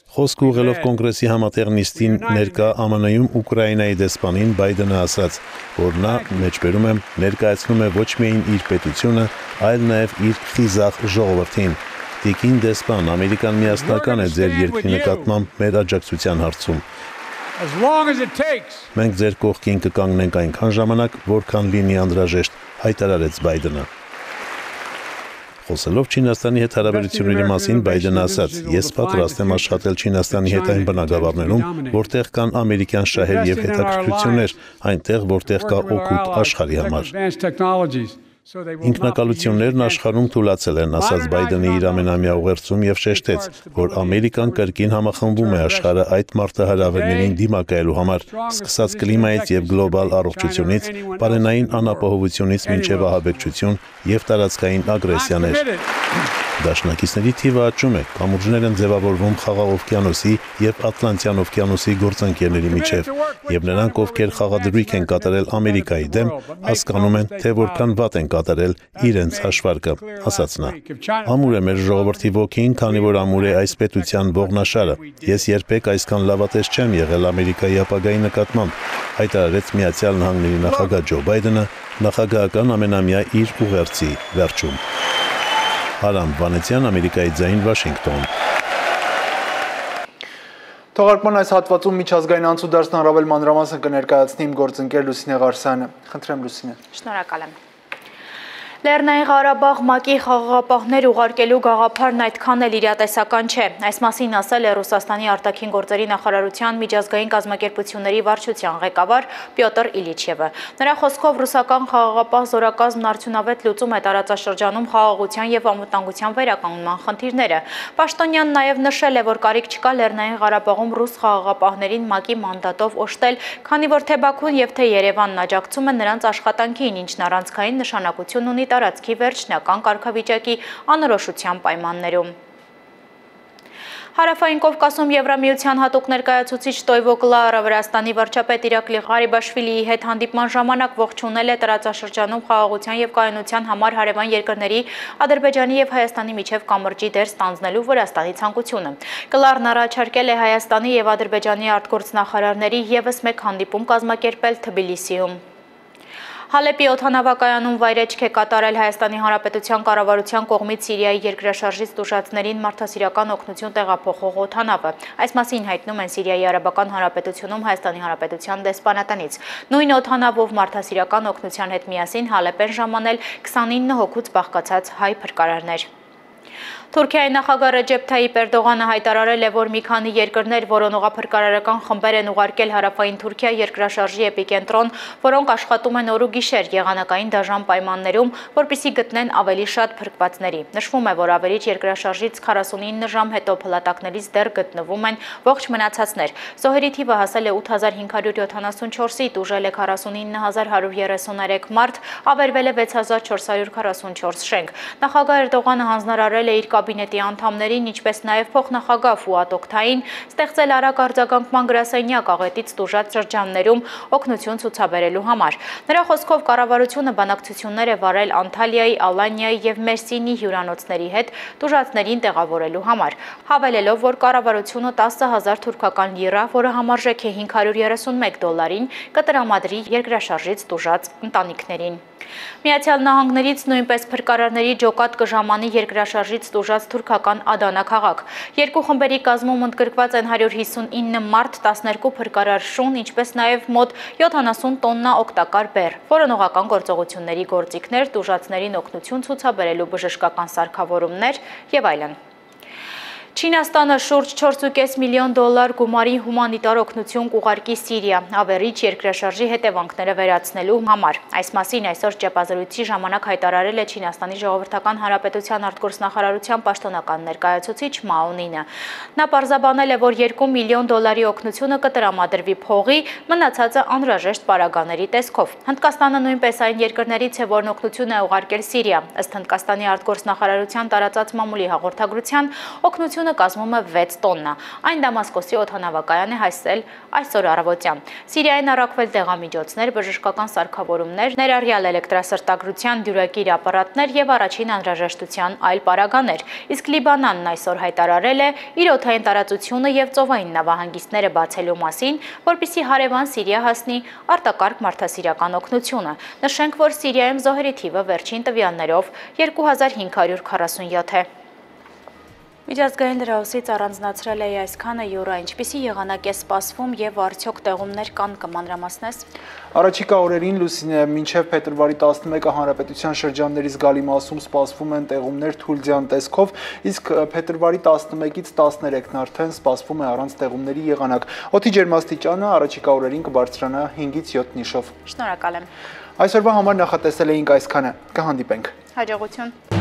S22: Խոսք ուղղելով կոնգրեսի համատեղ նիստին ներկա Ամն Ի-ում Ուկրաինայի դեսպանին Բայդենը ասաց, որ նա, մեջբերում եմ, ներկայացնում է ոչ միայն իր պետությունը, այլ նաև իր խիզախ ժողովրդին։ Տիկին դեսպան, Ամերիկան միասնական է ձեր երկրի նկատմամբ մեր աջակցության հարցում։ Մենք ձեր կողքին կկանգնենք այնքան ժամանակ, որքան լինի անհրաժեշտ, հայտարարեց Բայդենը։ Խոսելով Չինաստանի հետ հարաբերությունների մասին Բայդենը ասաց. ես պատրաստ եմ աշխատել Չինաստանի հետ այն բնագավառներում, որտեղ կան ամերիկյան շահեր եւ հետաքրքրություններ, այնտեղ որտեղ կա օգուտ աշխարհի համար։ Ինքնակալություններն աշխարհում թուլացել են, ասաց Բայդենը իր ամենամյա ուղերձում եւ շեշտեց, որ Ամերիկան կրկին համախմբում է աշխարհը այդ մարտահրավերներին դիմակայելու համար, սկսած կլիմայից եւ գլոբալ առողջությունից, պարենային անապահովությունից մինչեւ ահաբեկչություն եւ տարածքային ագրեսիաներ։ Դաշնակիցների թիվը աճում է, կամուրջներ են ձևավորվում Խաղաղ օվկիանոսի եւ Ատլանտյան օվկիանոսի գործընկերների միջև, եւ նրանք, ովքեր խաղադրույք են կատարել Ամերիկայի դեմ, հասկանում են, թե որքան վատ են կատարել իրենց հաշվարկը, ասաց նա։ Ամուր է մեր ժողովրդի ոգին, քանի որ ամուր է այս պետության ողնաշարը։ Ես երբեք այսքան լավատես չեմ եղել Ամերիկայի ապագայի նկատմամբ, հայտարարեց Միացյալ Նահանգների նախագահ Ջո Բայդենը նախագահական ամենամյա իր ուղերձի վերջում։ Արամ Վանեցյան, Ամերիկայի ձայն, Վաշինգտոն։
S1: Թողարկման այս հատվածում միջազգային անցուդարձն առավել մանրամասն կներկայացնի իմ գործընկեր Լուսինե Ղարսյանը։ Խնդրեմ Լուսինե։
S3: Շնորհակալ եմ։ Լեռնային Ղարաբաղ ՄԱԿ-ի խաղաղապահներ ուղարկելու գաղափարն այդքան էլ իրատեսական չէ։ Այս մասին ասել է Ռուսաստանի արտաքին գործերի նախարարության միջազգային կազմակերպությունների վարչության ղեկավար Պյոտր Իլիչևը։ Նրա խոսքով ռուսական խաղաղապահ զորակազմն արդյունավետ լուծում է տարածաշրջանում խաղաղության եւ անվտանգության վերականգնման խնդիրները։ Պաշտոնյանն նաեւ նշել է, որ կարիք չկա Լեռնային Ղարաբաղում ռուս խաղաղապահներին ՄԱԿ-ի մանդատով օժտել, քանի որ թե Բաքուն եւ թե Երևանն աջակցում են նրանց աշխատանքին, ինչն առանցքային նշանակություն ունի տարածքի վերջնական կարգավիճակի անորոշության պայմաններում։ Հարավային Կովկասում Եվրամիության հատուկ ներկայացուցիչ Տոյվո Կլաարը Վրաստանի վարչապետ Իրակլի Ղարիբաշվիլիի հետ հանդիպման ժամանակ ողջունել է տարածաշրջանում խաղաղության և կայունության համար հարևան երկրների Ադրբեջանի և Հայաստանի միջև կամրջի դեր ստանձնելու Վրաստանի ցանկությունը։ Կլարն առաջարկել է Հայաստանի և Ադրբեջանի արտգործնախարարների ևս մեկ հանդիպում կազմակերպել Թբիլիսիում։ Հալեպի օդանավակայանում վայրեջք է կատարել Հայաստանի Հանրապետության կառավարության կողմից Սիրիայի երկրաշարժից տուժածներին մարդասիրական օգնություն տեղափոխող օդանավը։ Այս մասին հայտնում են Սիրիայի Արաբական Հանրապետությունում Հայաստանի Հանրապետության դեսպանատնից։ Նույն օդանավով մարդասիրական օգնության հետ միասին Հալեպ են ժամանել քսանինը հոգուց բաղկացած հայ փրկարարներ։ Թուրքիայի նախագահ Ռեջեփ Թայիպ Էրդողանը հայտարարել է, որ մի քանի երկրներ որոնողափրկարարական խմբեր են ուղարկել հարավային Թուրքիա երկրաշարժի էպիկենտրոն, որոնք աշխատում են օր ու գիշեր եղանակային դաժան պայմաններում, որպեսզի գտնեն ավելի շատ փրկվածների։ Նշվում է, որ ավերիչ երկրաշարժից քառասունինը ժամ հետո փլատակներից դեռ գտնվում են ողջ մնացածներ։ Զոհերի թիվը հասել է ութ հազար հինգ հարյուր յոթանասունչորսի, տուժել է քառասունինը հազար հարյուր երեսուներեք մարդ, ավերվել է վեց հազար չորս հարյուր քառասունչորս շենք։ Նախագահ Էրդողանը հանձնարարել է իր կաբինետի անդամներին, ինչպես նաև փոխնախագահ Ֆուադ Օքթային, ստեղծել արագ արձագանքման գրասենյակ աղետից տուժած շրջաններում օգնություն ցուցաբերելու համար։ Նրա խոսքով կառավարությունը բանակցություններ է վարել Անտալիայի, Ալանիայի և Մերսինի հյուրանոցների հետ տուժածներին տեղավորելու համար, հավելելով, որ կառավարությունը տասը հազար թուրքական լիրա, որը համարժեք է հինգ հարյուր երեսունմեկ դոլարին, կտրամադրի երկրաշարժից տուժած ընտանիքներին։ Միացյալ Նահանգներից նույնպես փրկարարների ջոկատ կժամանի երկրաշարժից տուժած թուրքական Ադանա քաղաք։ Երկու խմբերի կազմում ընդգրկված են հարյուր հիսունինը մարդ, տասներկու փրկարար շուն, ինչպես նաև մոտ յոթանասուն տոննա օգտակար բեռ, որոնողական գործողությունների գործիքներ, տուժածներին օգնություն ցուցաբերելու բժշկական սարքավորումներ եւ այլն։ Չինաստանը շուրջ չորս ու կես միլիոն դոլար գումարի հումանիտար օգնություն կուղարկի Սիրիա, ավերիչ երկրաշարժի հետևանքները վերացնելու համար։ Այս մասին այսօր ճեպազրույցի ժամանակ հայտարարել է Չինաստանի Ժողովրդական Հանրապետության արտգործնախարարության պաշտոնական ներկայացուցիչ Մաո Նինը։ Նա պարզաբանել է, որ երկու միլիոն դոլարի օգնությունը կտրամադրվի փողի, մնացածը անհրաժեշտ պարագաների տեսքով։ Հնդկաստանը նույնպես այն երկրներից է, որն օգնություն է ուղարկել Սիրիա։ Ըստ Հնդկաստանի արտգործնախարարության տարածած մամուլի հաղորդագրության, օգնությունը կազմում է վեց տոննա։ Այն Դամասկոսի օդանավակայան է հասել այսօր առավոտյան։ Սիրիային առաքվել դեղամիջոցներ, բժշկական սարքավորումներ, ներառյալ էլեկտրասրտագրության դյուրակիր ապարատներ եւ առաջին անհրաժեշտության այլ պարագաներ։ Իսկ Լիբանանն այսօր հայտարարել է իր օդային տարածությունը եւ ծովային նավահանգիստները բացելու մասին, որպեսզի հարևան Սիրիա հասնի արտակարգ մարդասիրական օգնությունը։ Նշենք, որ Սիրիայում զոհերի թիվը վերջին տվյալներով երկու հազար հինգ հարյուր քառասունյոթ է։ Միջազգային լրահոսից առանձնացրել է այսքանը յուրա, ինչպիսի եղանակ է սպասվում եւ արդյոք տեղումներ կան, կմանրամասնես։
S1: Առաջիկա օրերին Լուսինե մինչև փետրվարի տասնմեկը հանրապետության շրջանների զգալի մասում սպասվում են տեղումներ թույլձյան տեսքով, իսկ փետրվարի տասնմեկից տասներեքն արդեն սպասվում է առանց տեղումների եղանակ։ Օդի ջերմաստիճանը առաջիկա օրերին կբարձրանա հինգից յոթ նիշով։
S3: Շնորհակալ եմ։
S1: Այսօրվա համար նախատեսել էինք այսքանը։ Կհանդիպենք։
S3: Հաջողություն։